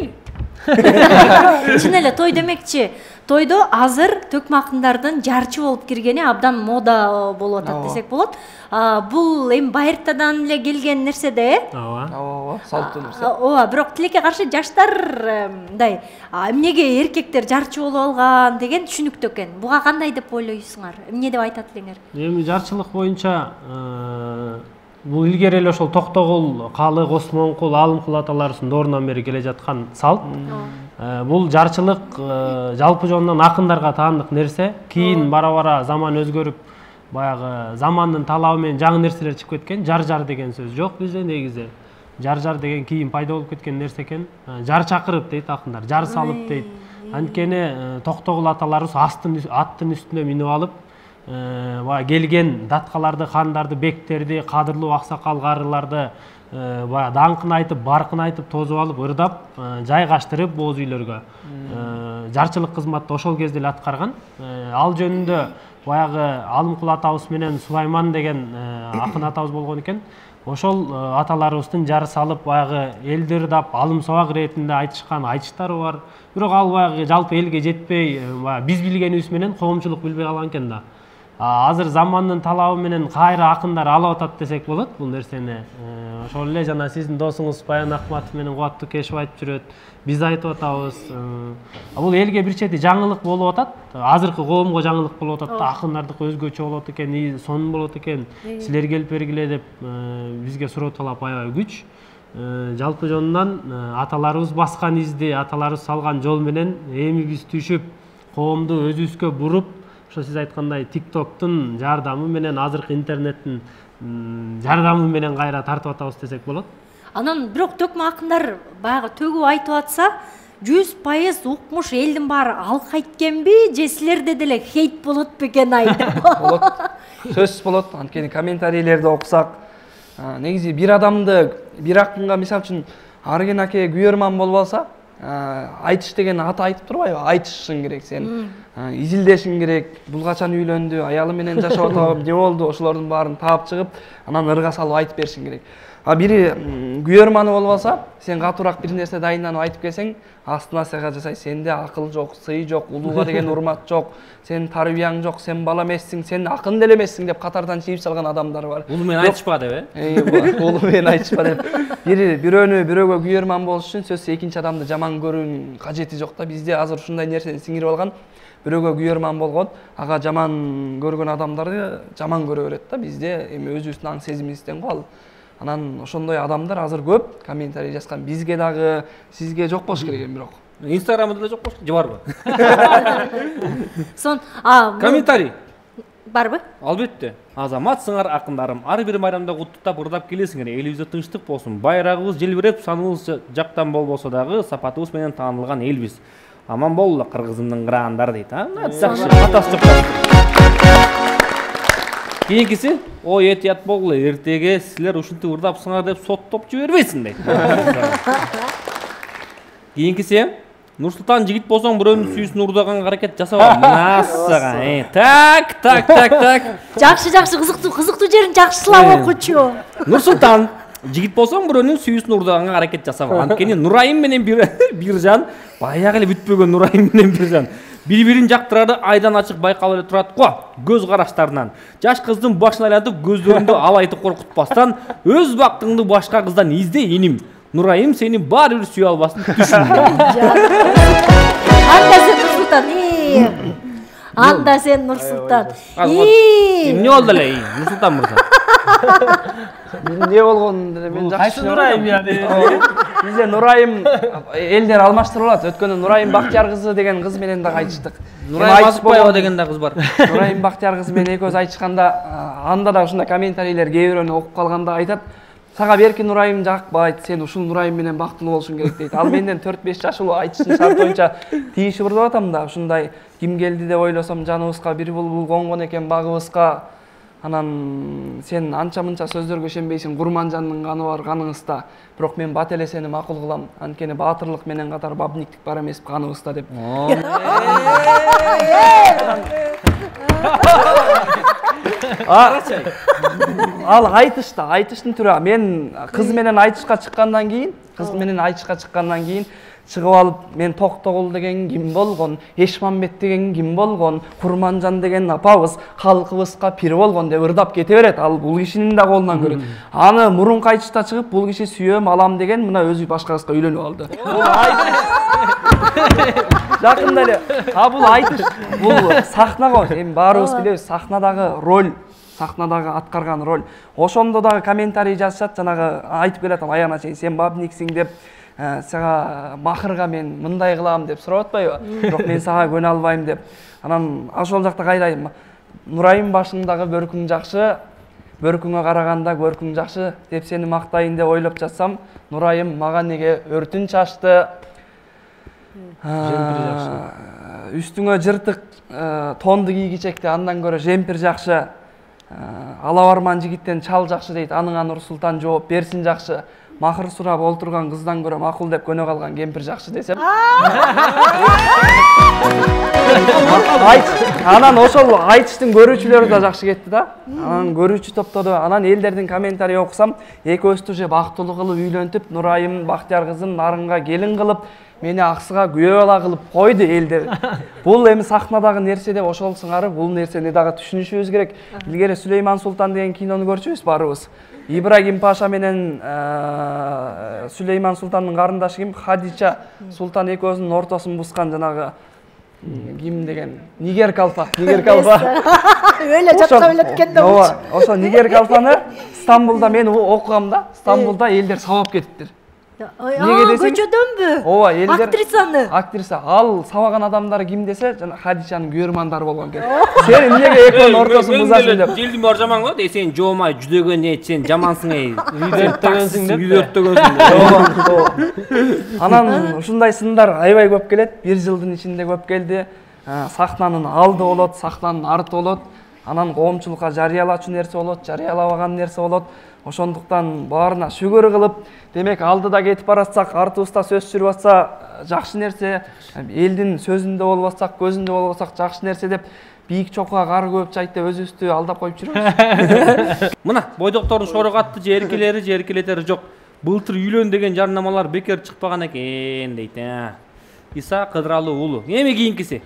Чын эле той демекчи, тойдо азыр төкмө акындардын жарчы болуп киргени абдан мода болуп атат десек болот. Бул эми байыртадан эле келген нерсе да, Ооба, салттуу нерсе. Ооба, бирок тилекке каршы жаштар мындай, эмнеге эркектер жарчы болуп алган деген түшүнүктүү экен. Буга кандай деп ойлойсуңар? Эмне деп айтат элеңер? Эми жарчылык боюнча бул илгери эле ошол Токтогул, Калык, Осмонкул, Алымкул аталарыбыздын доорунан бери келе жаткан салт. Бул жарчылык жалпы жонунан акындарга таандык нерсе. Кийин бара-бара заман өзгөрүп, баягы замандын талабы менен жаңы нерселер чыгып кеткен. Жар деген сөз жок бизде негизи. Жар деген кийин пайда болуп кеткен нерсе экен. Жар чакырып дейт акындар, жар салып дейт. Анткени Токтогул аталарыбыз аттын үстүнө минип алып, келген даткаларды, хандарды, бектерди, кадырлуу аксакал карыларды даңкын айтып, баркын айтып, тозуп алып, ырдап, жайгаштырып бооз үйлөргө. Жарчылык кызматты ошол кезде эле аткарган. Ал жөнүндө баягы Алымкул атабыз менен Сулайман деген акын атабыз болгон экен. Ошол аталарыбыздын жар салып, баягы элди ырдап, алым сабак иретинде айтышкан айтыштары бар. Бирок ал баягы жалпы элге жетпей, биз билгенибиз менен коомчулук билбей калган экен да. Азыр замандын талабы менен кайра акындар алып атат десек болот бул нерсени. Ошол эле жана сиздин досуңуз Баян Акматов менен Кубаттуу Кешев айтып жүрөт. Биз айтып атабыз. Бул элге бир чети жаңылык болуп атат. Азыркы коомго жаңылык болуп атат да, акындардыкы өзгөчө болот экен, сонун болот экен. Силер келип бергиле деп бизге суроо талап аябай күч. Жалпы жонунан аталарыбыз баскан изди, аталарыбыз салган жол менен эми биз түшүп, коомду өзүбүзгө буруп, ошо сиз айткандай TikToктун жардамы менен, азыркы интернеттин жардамы менен кайра тартып атабыз десек болот. Анан бирок төкмө акындар баягы төгүп айтып атса, 100% укмуш элдин баары алкайт экенби, же силерде деле хейт болот бекен Болот. Сөзсүз болот. Анткени комментарийлерди окусак, негизи бир адамды, бир акынга мисалы үчүн Арген аке күйөрман болуп алса, айтыш деген аты айтып турбайбы? Айтышың керек сен. Изилдешиң керек. Бул качан үйлөндү, аялы менен жашап атабы, эмне болду? Ошолордун баарын таап чыгып, анан ырга салып айтып беришиң керек. Бири күйөрманы болуп алса, сен катуураак бир нерсе дайынданып айтып келсең, астына сага жасай, сенде акыл жок, сый жок, улууга деген урмат жок, сен тарбияң жок, сен бала эмессиң, сен акын деле эмессиң деп катардан чийип салган адамдар бар. Улуу менен айтышпа деп, Улуу менен айтышпа деп. Бирөөгө күйөрман болуш үчүн сөзсүз экинчи адамды жаман көрүүнүн кажети жок да. Бизде азыр ушундай нерсени сиңирип алган. Бирөөгө күйөрман болгон, ага жаман көргөн адамдарды жаман көрө берет да. Бизде эми өзүбүздүн аң сезимибизден го ал. Анан ошондой адамдар азыр көп комментарий жазган. Бизге дагы, сизге жок болуш керек эми бирок. Инстаграмда деле жок болуш керек, же барбы? Комментарий барбы? Албетте. Азаматсыңар акындарым, ар бир майрамда куттуктап ырдап келесиңер. Элибизде тынчтык болсун. Байрагыбыз желбиреп, саныбыз жактан болбосо дагы сапатыбыз менен таанылган элбиз. Аман болула кыргызымдын кыраандары дейт. Жакшы, катасы жок. Кийинкиси, ой этият болгула, эртеге силер ушинтип ырдапсыңар деп соттоп жибербейсиң дейт. Кийинкиси, Нурсултан жигит болсоң бирөөнүн сүйүүсүн урдаганга аракет жасаба. Мына Так. Жакшы, кызыктуу жерин жакшылап окучу. Нурсултан жигит болсоң бирөөнүн сүйүүсүн урдаганга аракет жасаба. Анткени Нурайым менен Биржан, баягы эле бүтпөгөн Нурайым менен Биржан Бири-бирин жактырары айдан ачык байкалып эле турат го. Көз караштарынан. Жаш кыздын башын айлантып, көздөрүндө алайтып коркутпастан, өз бактыңды башка кыздан изде, иним. Нурайым сени баары бир сүйө албасын, түшүн. Анда сен Нурсултан. Анда сен Нурсултан. Эмне болду эле, Нурсултан мырза? Эмне болгонун мен жакшы. Кайсы Нурайым я? Бизде Нурайым элдер алмаштырып алат. Өткөндө Нурайым Бактияр кызы деген кыз менен да кайтыштык. Нурайым Азыкбаева деген да кыз бар. Нурайым Бактияр кызы менен экөөбүз айтышканда, анда да ушундай комментарийлер кээ бирөөнү окуп калганда айтат. Сага берки Нурайым жакпайт, сен ушул Нурайым менен бактылуу болушуң керек дейт. Ал менден 4-5 жаш улуу, айтыштын шарты боюнча тийишип урдуп атам да. Ушундай ким келди деп ойлосом, жаныбызга бир булбул конгон экен багыбызга. Анан сен анча-мынча сөздөргө ишенбейсиң, Курманжандын каны бар каныңызда. Бирок мен бат эле сени макул кылам. Анткени баатырлык менен катар бабниктик бар эмес каныбызда деп. Ал айтыштын түрү. Мен кыз менен айтышка чыккандан кийин, чыгып алып, мен Токтогул деген ким болгон, Эшмамбет деген ким болгон, Курманжан деген апабыз халкыбызга пир болгон деп ырдап кете берет. Ал бул кишинин да колунан көрөт. Аны мурунку айтышта чыгып, бул киши сүйөм, алам деген мына өзү башка кызга үйлөнүп алды. Жакында эле. Бул айтыш, бул сахнага, эми баарыбыз билебиз, сахнадагы роль, сахнадагы аткарган роль. Ошондо дагы комментарий жазышат, жанагы айтып келатам, аягына чейин сен бабниксиң деп, сага махырга мен мындай кылам деп сурап атпайбы? Бирок мен сага көнө албайм деп. Анан ошол жакта кайрайм. Нурайым башыңдагы бөркүң жакшы, бөркүңө караганда көркүң жакшы деп сени мактайын деп ойлоп жатсам, Нурайым мага неге өртүн чачты? Үстүңө жыртык тонду кийгичекти, андан көрө жемпир жакшы. Алабарман жигиттен чал жакшы дейт. Аныңа Нурсултан жооп берсин жакшы. Махыр сурап олтурган кыздан көрө макул деп көнө калган кемпир жакшы десем. Анан ошол айтыштын көрүүчүлөрү да жакшы кетти да. Анан көрүүчү топтоду. Анан элдердин комментарий окусам, экөөбүздү уже бактылуу кылып үйлөнтүп, Нурайым Бактияр кызын нарынга келин кылып, мени аксыга күйөө бала кылып койду элдер. Бул эми сахнадагы нерсе деп ошол сыңары, бул нерсени дагы түшүнүшүбүз керек. Илгери Сүлейман Султан деген кинону көрчүбүз баарыбыз. Ибрагим Паша менен Сүлейман Султандын карындашы ким? Хадича Султан экөөсүнүн ортосун бускан жанагы ким деген? Нигер Калфа. Өлө жатка өлөткөн да болчу. Ошо Нигер Калфаны Стамбулда мен окугам да. Стамбулда элдер сабап кетиптир. Көчөдөнбү? Ооба, элдер актрисаны. Актриса. Ал сабаган адамдар ким десе, жана Хадичанын күйөрмандары болгон экен. Сен эмнеге экөөнүн ортосун бузасың деп. Желдин баары жаман го, сен жоомай жүдөгөн эт, сен жамансың эй. Үйдөрттөгөнсүң деп. Анан ушундай сындар аябай көп келет. 1 жылдын ичинде көп келди. Сахнанын алды болот, сахнанын арты болот. Анан коомчулукка жарыялачу нерсе болот, жарыялабаган нерсе болот. Ошондуктан баарына шүгүр кылып, демек алдыда кетип баратсак, артыбызда сөз жүрүп атса жакшы нерсе, элдин сөзүндө болбосак, көзүндө болбосак жакшы нерсе деп бийик чокуга кар көп чайт деп өзүбүздү алдап коюп жүрөбүз. Мына бойдоктордун шорогатты же эркелетери жок. Былтыр үйлөн деген жарнамалар бекер чыкпаган экен дейт. Иса Кыдыралы уулу. Эми кийинкиси.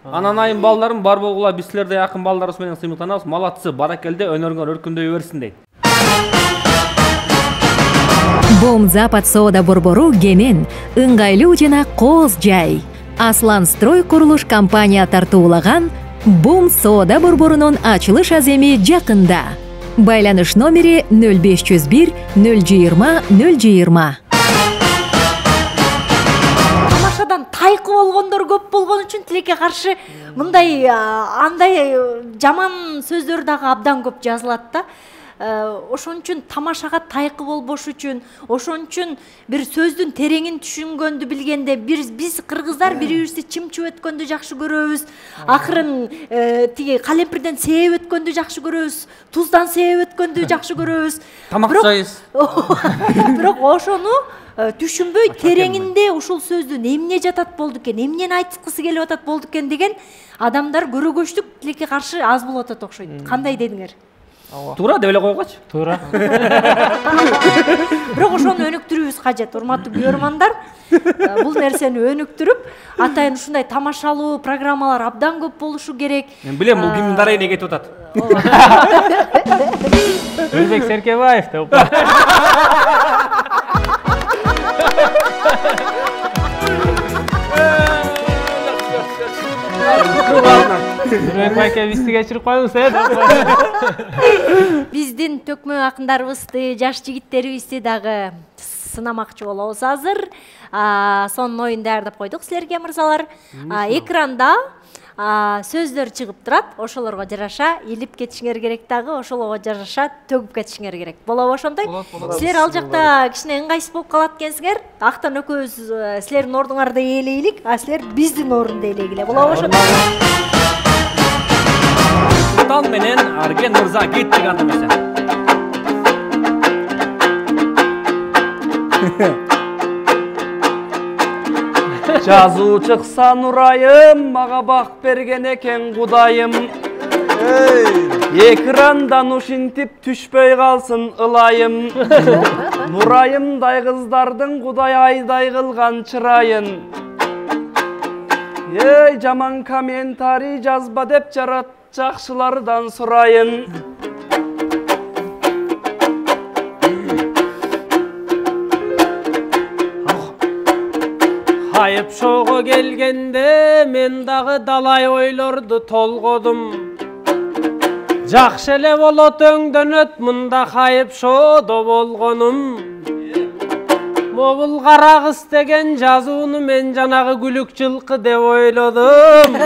Ананайым балдарым бар болгула, биз силердей акын балдарыбыз менен сыймыктанабыз. Малатсы, баракелде, өнөрүңөр өркүндөй берсин дейт. Бом Запад соода борбору кенен, ыңгайлуу жана кооз жай. Аслан строй курулуш компания тартуулаган Бом соода борборунун ачылыш аземи жакында. Байланыш номери 0501 020 020. Тамашадан тайкы болгондор көп болгон үчүн тилекке каршы мындай андай жаман сөздөр дагы абдан көп жазылат да. Ошон үчүн тамашага тайкы болбош үчүн, ошон үчүн бир сөздүн тереңин түшүнгөндү билгенде, биз кыргыздар бири-бирибизди чымчып өткөндү жакшы көрөбүз. Акырын тиги калемпирден сээп өткөндү жакшы көрөбүз, туздан сээп өткөндү жакшы көрөбүз. Тамак жайыз. Бирок ошону түшүнбөй тереңинде ушул сөздүн эмне жатат болду экен, эмнени айткысы келип атат болду экен деген адамдар көрөгөчтүк тилекке каршы аз болуп атат окшойт. Кандай дедиңер? Туура деп эле койгочу. Туура. Бирок ошону өнүктүрүүбүз кажет, урматтуу көрөрмандар. Бул нерсени өнүктүрүп, атайын ушундай тамашалуу программалар абдан көп болушу керек. Мен билем, бул кимдин дарайына кетип атат. Өзбек Серкебаев деп. Өзбек байке бизди кечирип коюңуз, Биздин төкмө акындарыбызды, жаш жигиттерибизди дагы сынамакчы болобуз азыр. Сонун оюн даярдап койдук силерге, мырзалар. Экранда сөздөр чыгып турат, ошолорго жараша илип кетишиңер керек дагы, ошолорго жараша төгүп кетишиңер керек. Болобу ошондой? Силер ал жакта кичине ыңгайсыз болуп калат экенсиңер. Актан экөөбүз силердин ордуңарда ээлейлик, а силер биздин орунда ээлегиле. Болобу ошондой? Султан менен Арген мырза кеттик анда эмесе. Жазуу чыкса нурайым, мага бак берген экен Кудайым. Экрандан ушинтип түшпөй калсын ылайым. Нурайымдай кыздардын Кудай айдай кылган чырайын. Эй, жаман комментарий жазба деп жакшылардан сурайын. Айып шоого келгенде мен дагы далай ойлорду толгодум. Жакшы эле болот өңдөнөт мында хайып шоодо болгонум. Могул кара кыз деген жазууну мен жанагы күлүк жылкы деп ойлодум.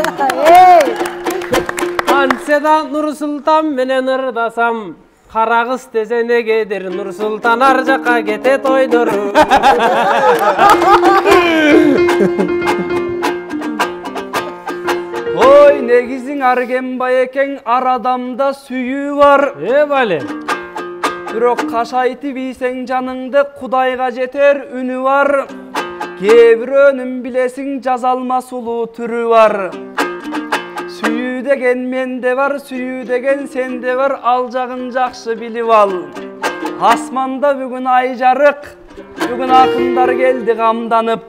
Антсе да Нурсултан менен ырдасам, кара кыз десе негедир Нурсултан ар жакка кетет ойдору. Ой, негизиң Аргенбай экен, ар адамда сүйүү бар. Бале. Бирок кашайтып ийсең жаныңды Кудайга жетер үнү бар. Кээ бирөөнүн билесиң жаза алмас улуу түрү бар. Сүйүү деген менде бар, сүйүү деген сенде бар, ал жагын жакшы билип ал. Асманда бүгүн ай жарык, бүгүн акындар келди камданып.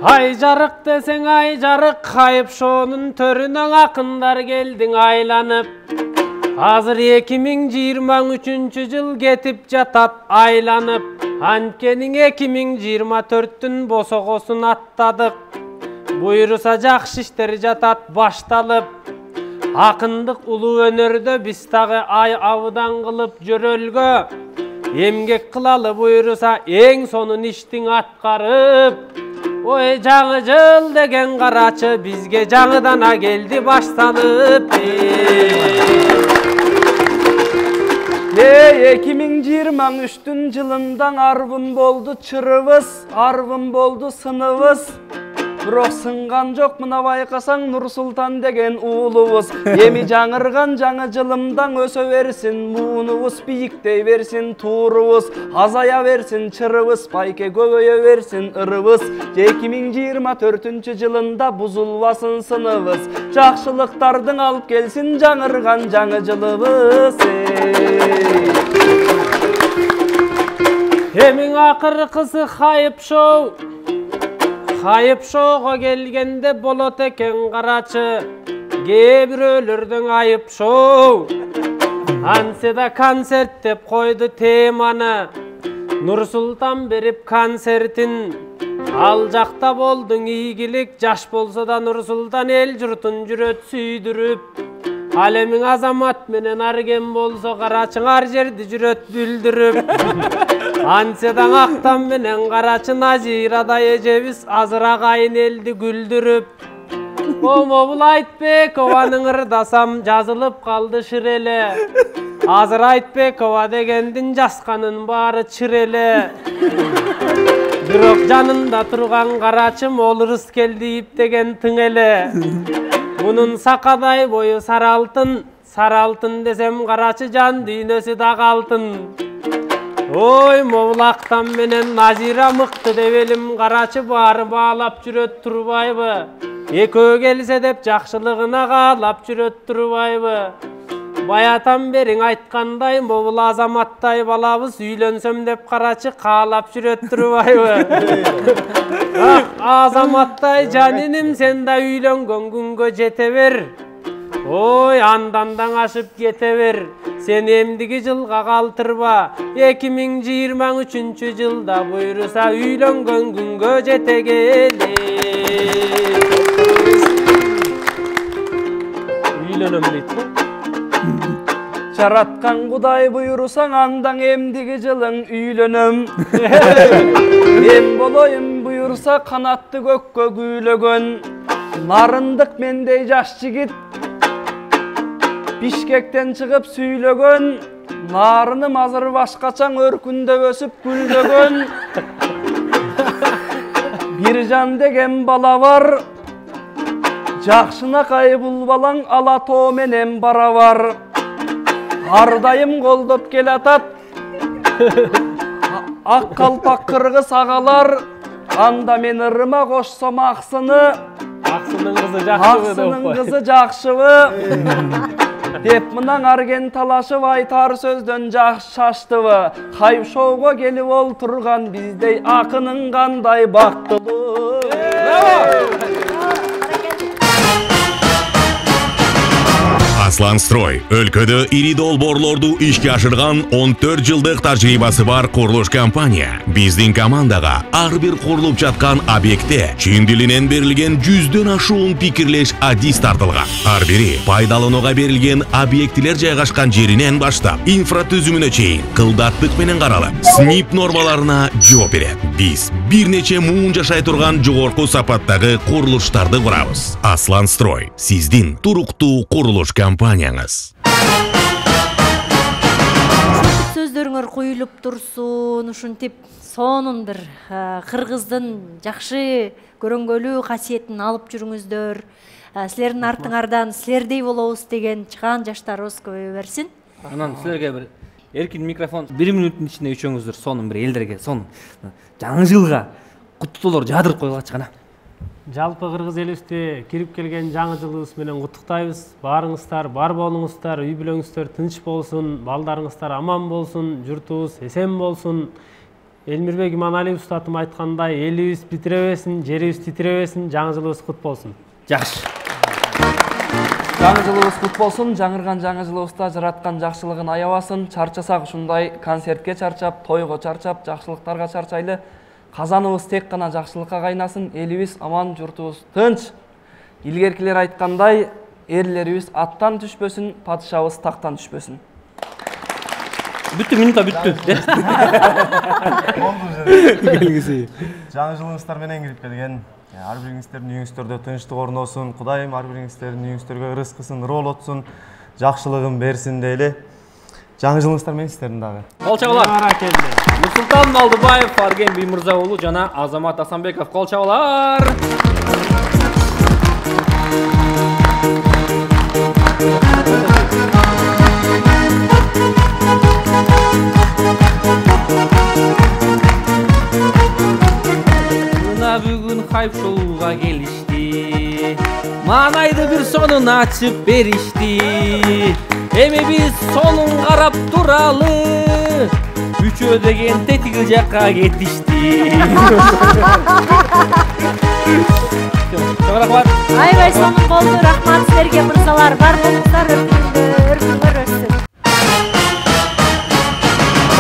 Ай жарык десең ай жарык, хайып шоонун төрүнөн акындар келдиң айланып. Азыр 2023 жыл кетип жатат айланып. Анткени 2024-түн босогосун аттадык. Буйруса жакшы иштер жатат башталып. Акындык улуу өнөрдө биз дагы ай абыдан кылып жөрөлгө. Эмгек кылалы буйруса эң сонун иштиң аткарып. Ой жаңы жыл деген карачы бизге жаңыдан келди башталып. 2023-түн жылында арбын болду чырыбыз, арбын болду сыныбыз. Бирок сынган жок, мына байкасаң Нурсултан деген уулубуз. Эми жаңырган жаңы жылымдан өсө берсин муунубуз, бийиктей берсин туурубуз, азая берсин чырыбыз, байке көбөйө берсин ырыбыз. 2024 жылында бузулбасын сыныбыз, жакшылыктардын алып келсин жаңырган жаңы жылыбыз. Эмиң акыркысы хайып шоу. Хайып шоого келгенде болот экен карачы, кээ бирөөлөрдүн айып шоу. Антсе да концерт деп койду теманы, Нурсултан берип концертин. Ал жакта болдуң ийгилик, жаш болсо да Нурсултан эл журтун жүрөт сүйдүрүп. Ал эмиң Азамат менен Арген болсо карачың ар жерди жүрөт бүлдүрүп. Антседан Актан менен карачы Назирадай эжебиз азыр агайын элди күлдүрүп. Момобул Айтбекованың ырдасам жазылып калды шыр эле. Азыр Айтбекова дегендин жазганын баары чыр эле. Бирок жанында турган карачым ол ырыс келди иптеген тың эле. Мунун сакадай бою сары алтын, сары алтын десем карачы жан дүйнөсү дагы алтын. Ой, Могул Актан менен Назира мыкты деп элим карачы баары баалап жүрөт турбайбы? Экөө келсе деп жакшылыгына каалап жүрөт турбайбы? Баятан бериң айткандай, могул Азаматтай балабыз үйлөнсөм деп карачы каалап жүрөт турбайбы? Азаматтай жаниним, сен да үйлөнгөн күнгө жете бер. Ой, андан даң ашып кете бер. Сен эмдиги жылга калтырба. 2023 жылда буйруса үйлөнгөн күнгө жете келе. Үйлөнөм дейт го. Жараткан Кудай буйрусаң, андан эмдиги жылың үйлөнөм. Мен болоюм буйруса канатты көккө күйлөгөн. Нарындык мендей жаш жигит Бишкектен чыгып сүйлөгөн. Нарыным азыр башкачаң өркүндө өсүп гүлдөгөн. Биржан деген бала бар, жакшынакай бул балаң ала тоо менен барабар. Ар дайым колдоп келатат ак калпак кыргыз агалар. Анда мен ырыма кошсом аксыны, аксынын кызы жакшыбы деп мынан арген талашып айтар сөздөн шаштыбы. Хайп-шоуго келип олтурган биздей акынын кандай бактылуу. Асланстрой өлкөдө ири долбоорлорду ишке ашырган 14 жылдык тажрыйбасы бар курулуш компания. Биздин командага ар бир курулуп жаткан объектте чын дилинен берилген 100дөн ашуун пикирлеш адис тартылган. Ар бири пайдаланууга берилген объектилер жайгашкан жеринен баштап инфратүзүмүнө чейин кылдаттык менен каралып, СНИП нормаларына жооп берет. Биз бир нече муун жашай турган жогорку сапаттагы курулуштарды курабыз. Асланстрой сиздин туруктуу курулуш компанияңыз. Сөздөрүңөр куюлуп турсун, ушинтип сонун бир кыргыздын жакшы көрөнгөлүү касиетин алып жүрүңүздөр. Силердин артыңардан силердей болобуз деген чыган жаштарыбыз көбөйө берсин. Анан силерге бир эркин микрофон 1 мүнөттүн ичинде үчөөңүздөр сонун бир элдерге сонун жаңы жылга куттуктоолор жаадырып койгулачы кана. Жалпы кыргыз элибизде кирип келген жаңы жылыбыз менен куттуктайбыз. Баарыңыздар бар болуңуздар, үй бүлөңүздөр тынч болсун, балдарыңыздар аман болсун, журтубуз эсен болсун. Элмирбек Иманалиев устатым айткандай, элибиз битиребесин, жерибиз титиребесин, жаңы жылыбыз кут болсун. Жакшы. Жаңы жылыбыз кут болсун, жаңырган жаңы жылыбызда жараткан жакшылыгын аябасын. Чарчасак ушундай концертке чарчап, тойго чарчап, жакшылыктарга чарчайлы. Казаныбыз тек гана жакшылыкка кайнасын, элибиз аман, журтубуз тынч. Илгеркилер айткандай, эрлерибиз аттан түшпөсүн, падышабыз тактан түшпөсүн. Бүттү, минута бүттү. Келгиси. Жаңы жылыңыздар менен кирип келген. Ар бириңиздердин үйүңүздөрдө тынчтык орносун, Кудайым ар бириңиздердин үйүңүздөргө ырыскысын, роолотсун, жакшылыгын берсин дейли. Жаңы жылыңыздар менен сиздердин дагы. Кол чабуулар. Нурсултан Малдыбаев, Арген Биймырза уулу жана Азамат Асанбеков, кол чабуулар. Мына бүгүн хайп-шоуга келишти. Маанайды бир сонун ачып беришти. Эми биз сонун карап туралы. Үчөө деген тетиги жакка кетишти. Рахмат. Айбай сонун болду. Рахмат силерге мырзалар. Бар болуңуздар, өркүңөр өссүн.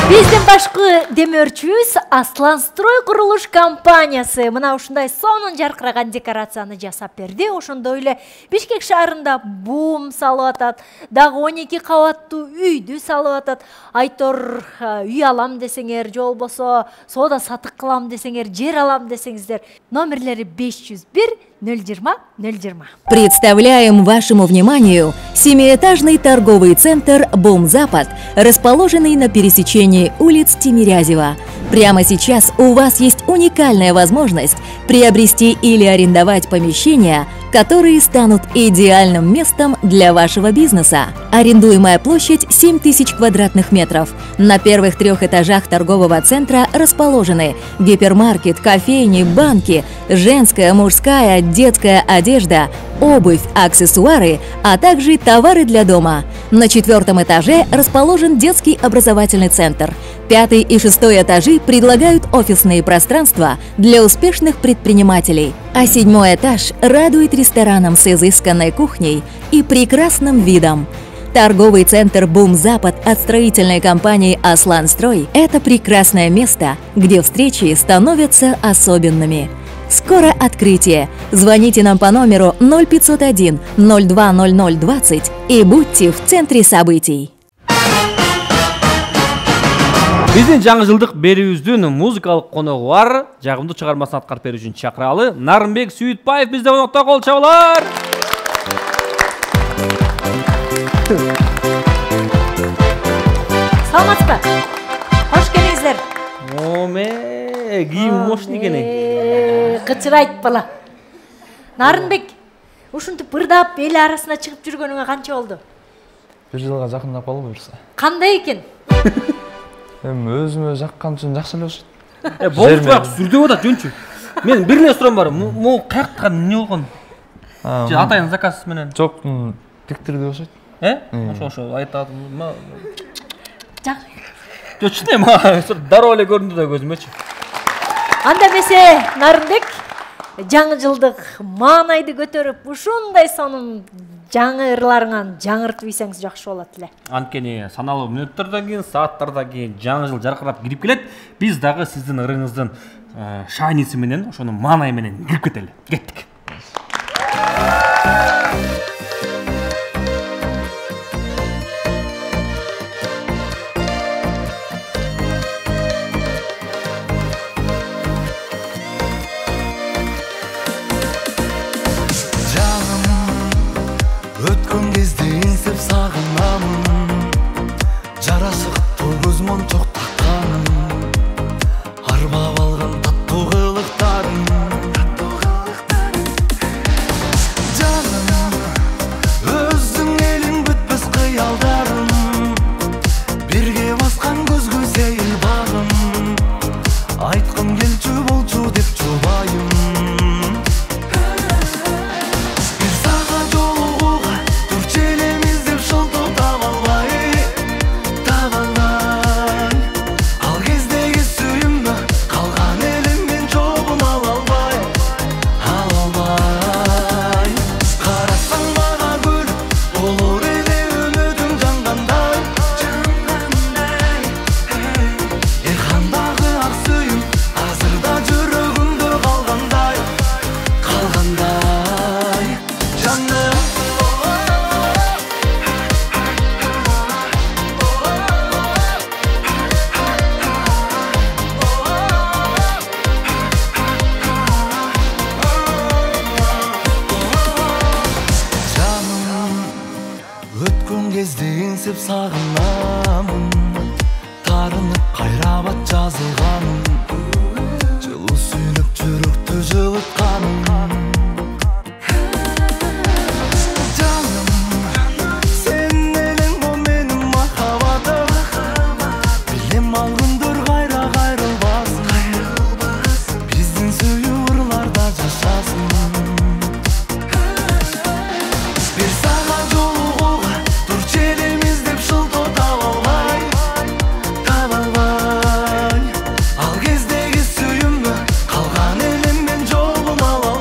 Биздин башкы демөөрчүбүз Асланстрой курулуш компаниясы мына ушундай сонун жаркыраган декорацияны жасап берди. Ошондой эле Бишкек шаарында бум салып атат, дагы 12 кабаттуу үйдү салып атат. Айтор үй алам десеңер, же болбосо соода сатык кылам десеңер, жер алам десеңиздер, номерлери 501 020 020. Представляем вашему вниманию 7-этажный торговый центр «Бум-Запад», расположенный на пересечении улиц Тимирязева. Прямо сейчас у вас есть уникальная возможность приобрести или арендовать помещение которые станут идеальным местом для вашего бизнеса. Арендуемая площадь 7000 квадратных метров. На первых 3 этажах торгового центра расположены гипермаркет, кофейни, банки, женская, мужская, детская одежда, обувь, аксессуары, а также товары для дома. На 4 этаже расположен детский образовательный центр. 5 и 6 этажи предлагают офисные пространства для успешных предпринимателей. А 7 этаж радует рестораном с изысканной кухней и прекрасным видом. Торговый центр «Бум-Запад» от строительной компании «Асланстрой» – это прекрасное место, где встречи становятся особенными. Скоро открытие. Звоните нам по номеру 0501 020020 и будьте в центре событий. Биздин жаңы жылдык берүүбүздүн музыкалык коногу бар. Жагымдуу чыгармасын аткарып берүү үчүн чакыралы. Нарынбек Сүйүтбаев бизде конокто, кол чабуулар. Саламатсызбы? Кош келиңиздер. Кийим мощный экен. Кычырайт бала. Нарынбек, ушинтип бырдап эл арасына чыгып жүргөнүңө канча болду? 1 жылга жакындап калды буюрса. Кандай экен? Эми өзүмө жаккан үчүн жакшы эле болушат. Болуп бак сүрдөп атат жөнчү. Мен бир эле суроом бар. Могу каяктан эмне болгон? Же атайын заказ менен? Жок, тиктирди болушат. Ошо айтат. Жок, чынем, дароо эле көрүндү да көзүмөчү. Анда эмесе, Нарынбек, жаңы жылдык маанайды көтөрүп, ушундай сонун жаңы ырларыңан жаңыртып ийсеңиз жакшы болот эле. Анткени саналуу мүнөттөрдөн кийин, сааттардан кийин жаңы жыл жаркырап кирип келет. Биз дагы сиздин ырыңыздын шайниси менен, ошонун маанайы менен кирип кетели. Кеттик. Өткөн кезде эңсеп сагынамын, жарасыктуу көз мончок такканым, арбап алган таттуу кылыктарым. Жаным, өзүң элиң бүтпөс кыялдарым, бирге баскан көзгө сейил багым, айткым келчү болчу деп жубайым. Сагынамын, тарынып кайрабат жазылганым, жылуу сүйнүп жүрөктү жылытканым. Жаным, сен элең о менин махабатым, билем ал күндөр кайра кайрылбасын, биздин сүйүү ырларда жашасын. Бир сага жолугууга турчу элемиз деп шылтоо таба албай, ал кездеги сүйүүмдү калган элем мен жолун ала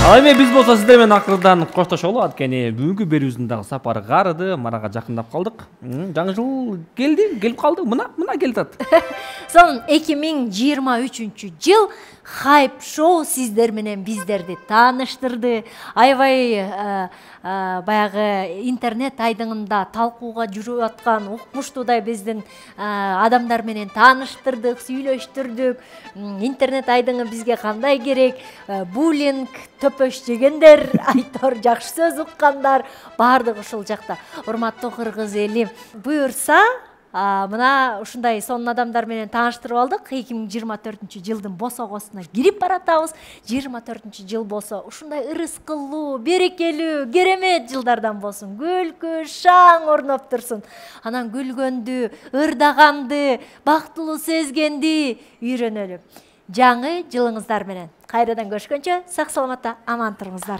Ал эми биз болсо сиздер менен акырдан коштошолу. Анткени бүгүнкү берүүбүздүн дагы сапары карыды, манага жакындап калдык. Жаңы жыл келип калды. Мына келип атат. Сонун 2023 жыл хайп шоу сиздер менен биздерди тааныштырды. Аябай баягы интернет айдыңында талкууга жүрүп аткан укмуштуудай биздин адамдар менен тааныштырдык, сүйлөштүрдүк. Интернет айдыңы бизге кандай керек? Буллинг, төпөш жегендер, айтор жакшы сөз уккандар, баардыгы ушул жакта. Урматтуу кыргыз эли, буюрса мына ушундай сонун адамдар менен тааныштырып алдык. 2024-жылдын босогосуна кирип баратабыз. 24-жыл болсо ушундай ырыскылуу, берекелүү, керемет жылдардан болсун. Күлкү, шаң орноп турсун. Анан күлгөндү, ырдаганды, бактылуу сезгенди үйрөнөлү. Жаңы жылыңыздар менен кайрадан көрүшкөнчө сак саламатта аман туруңуздар.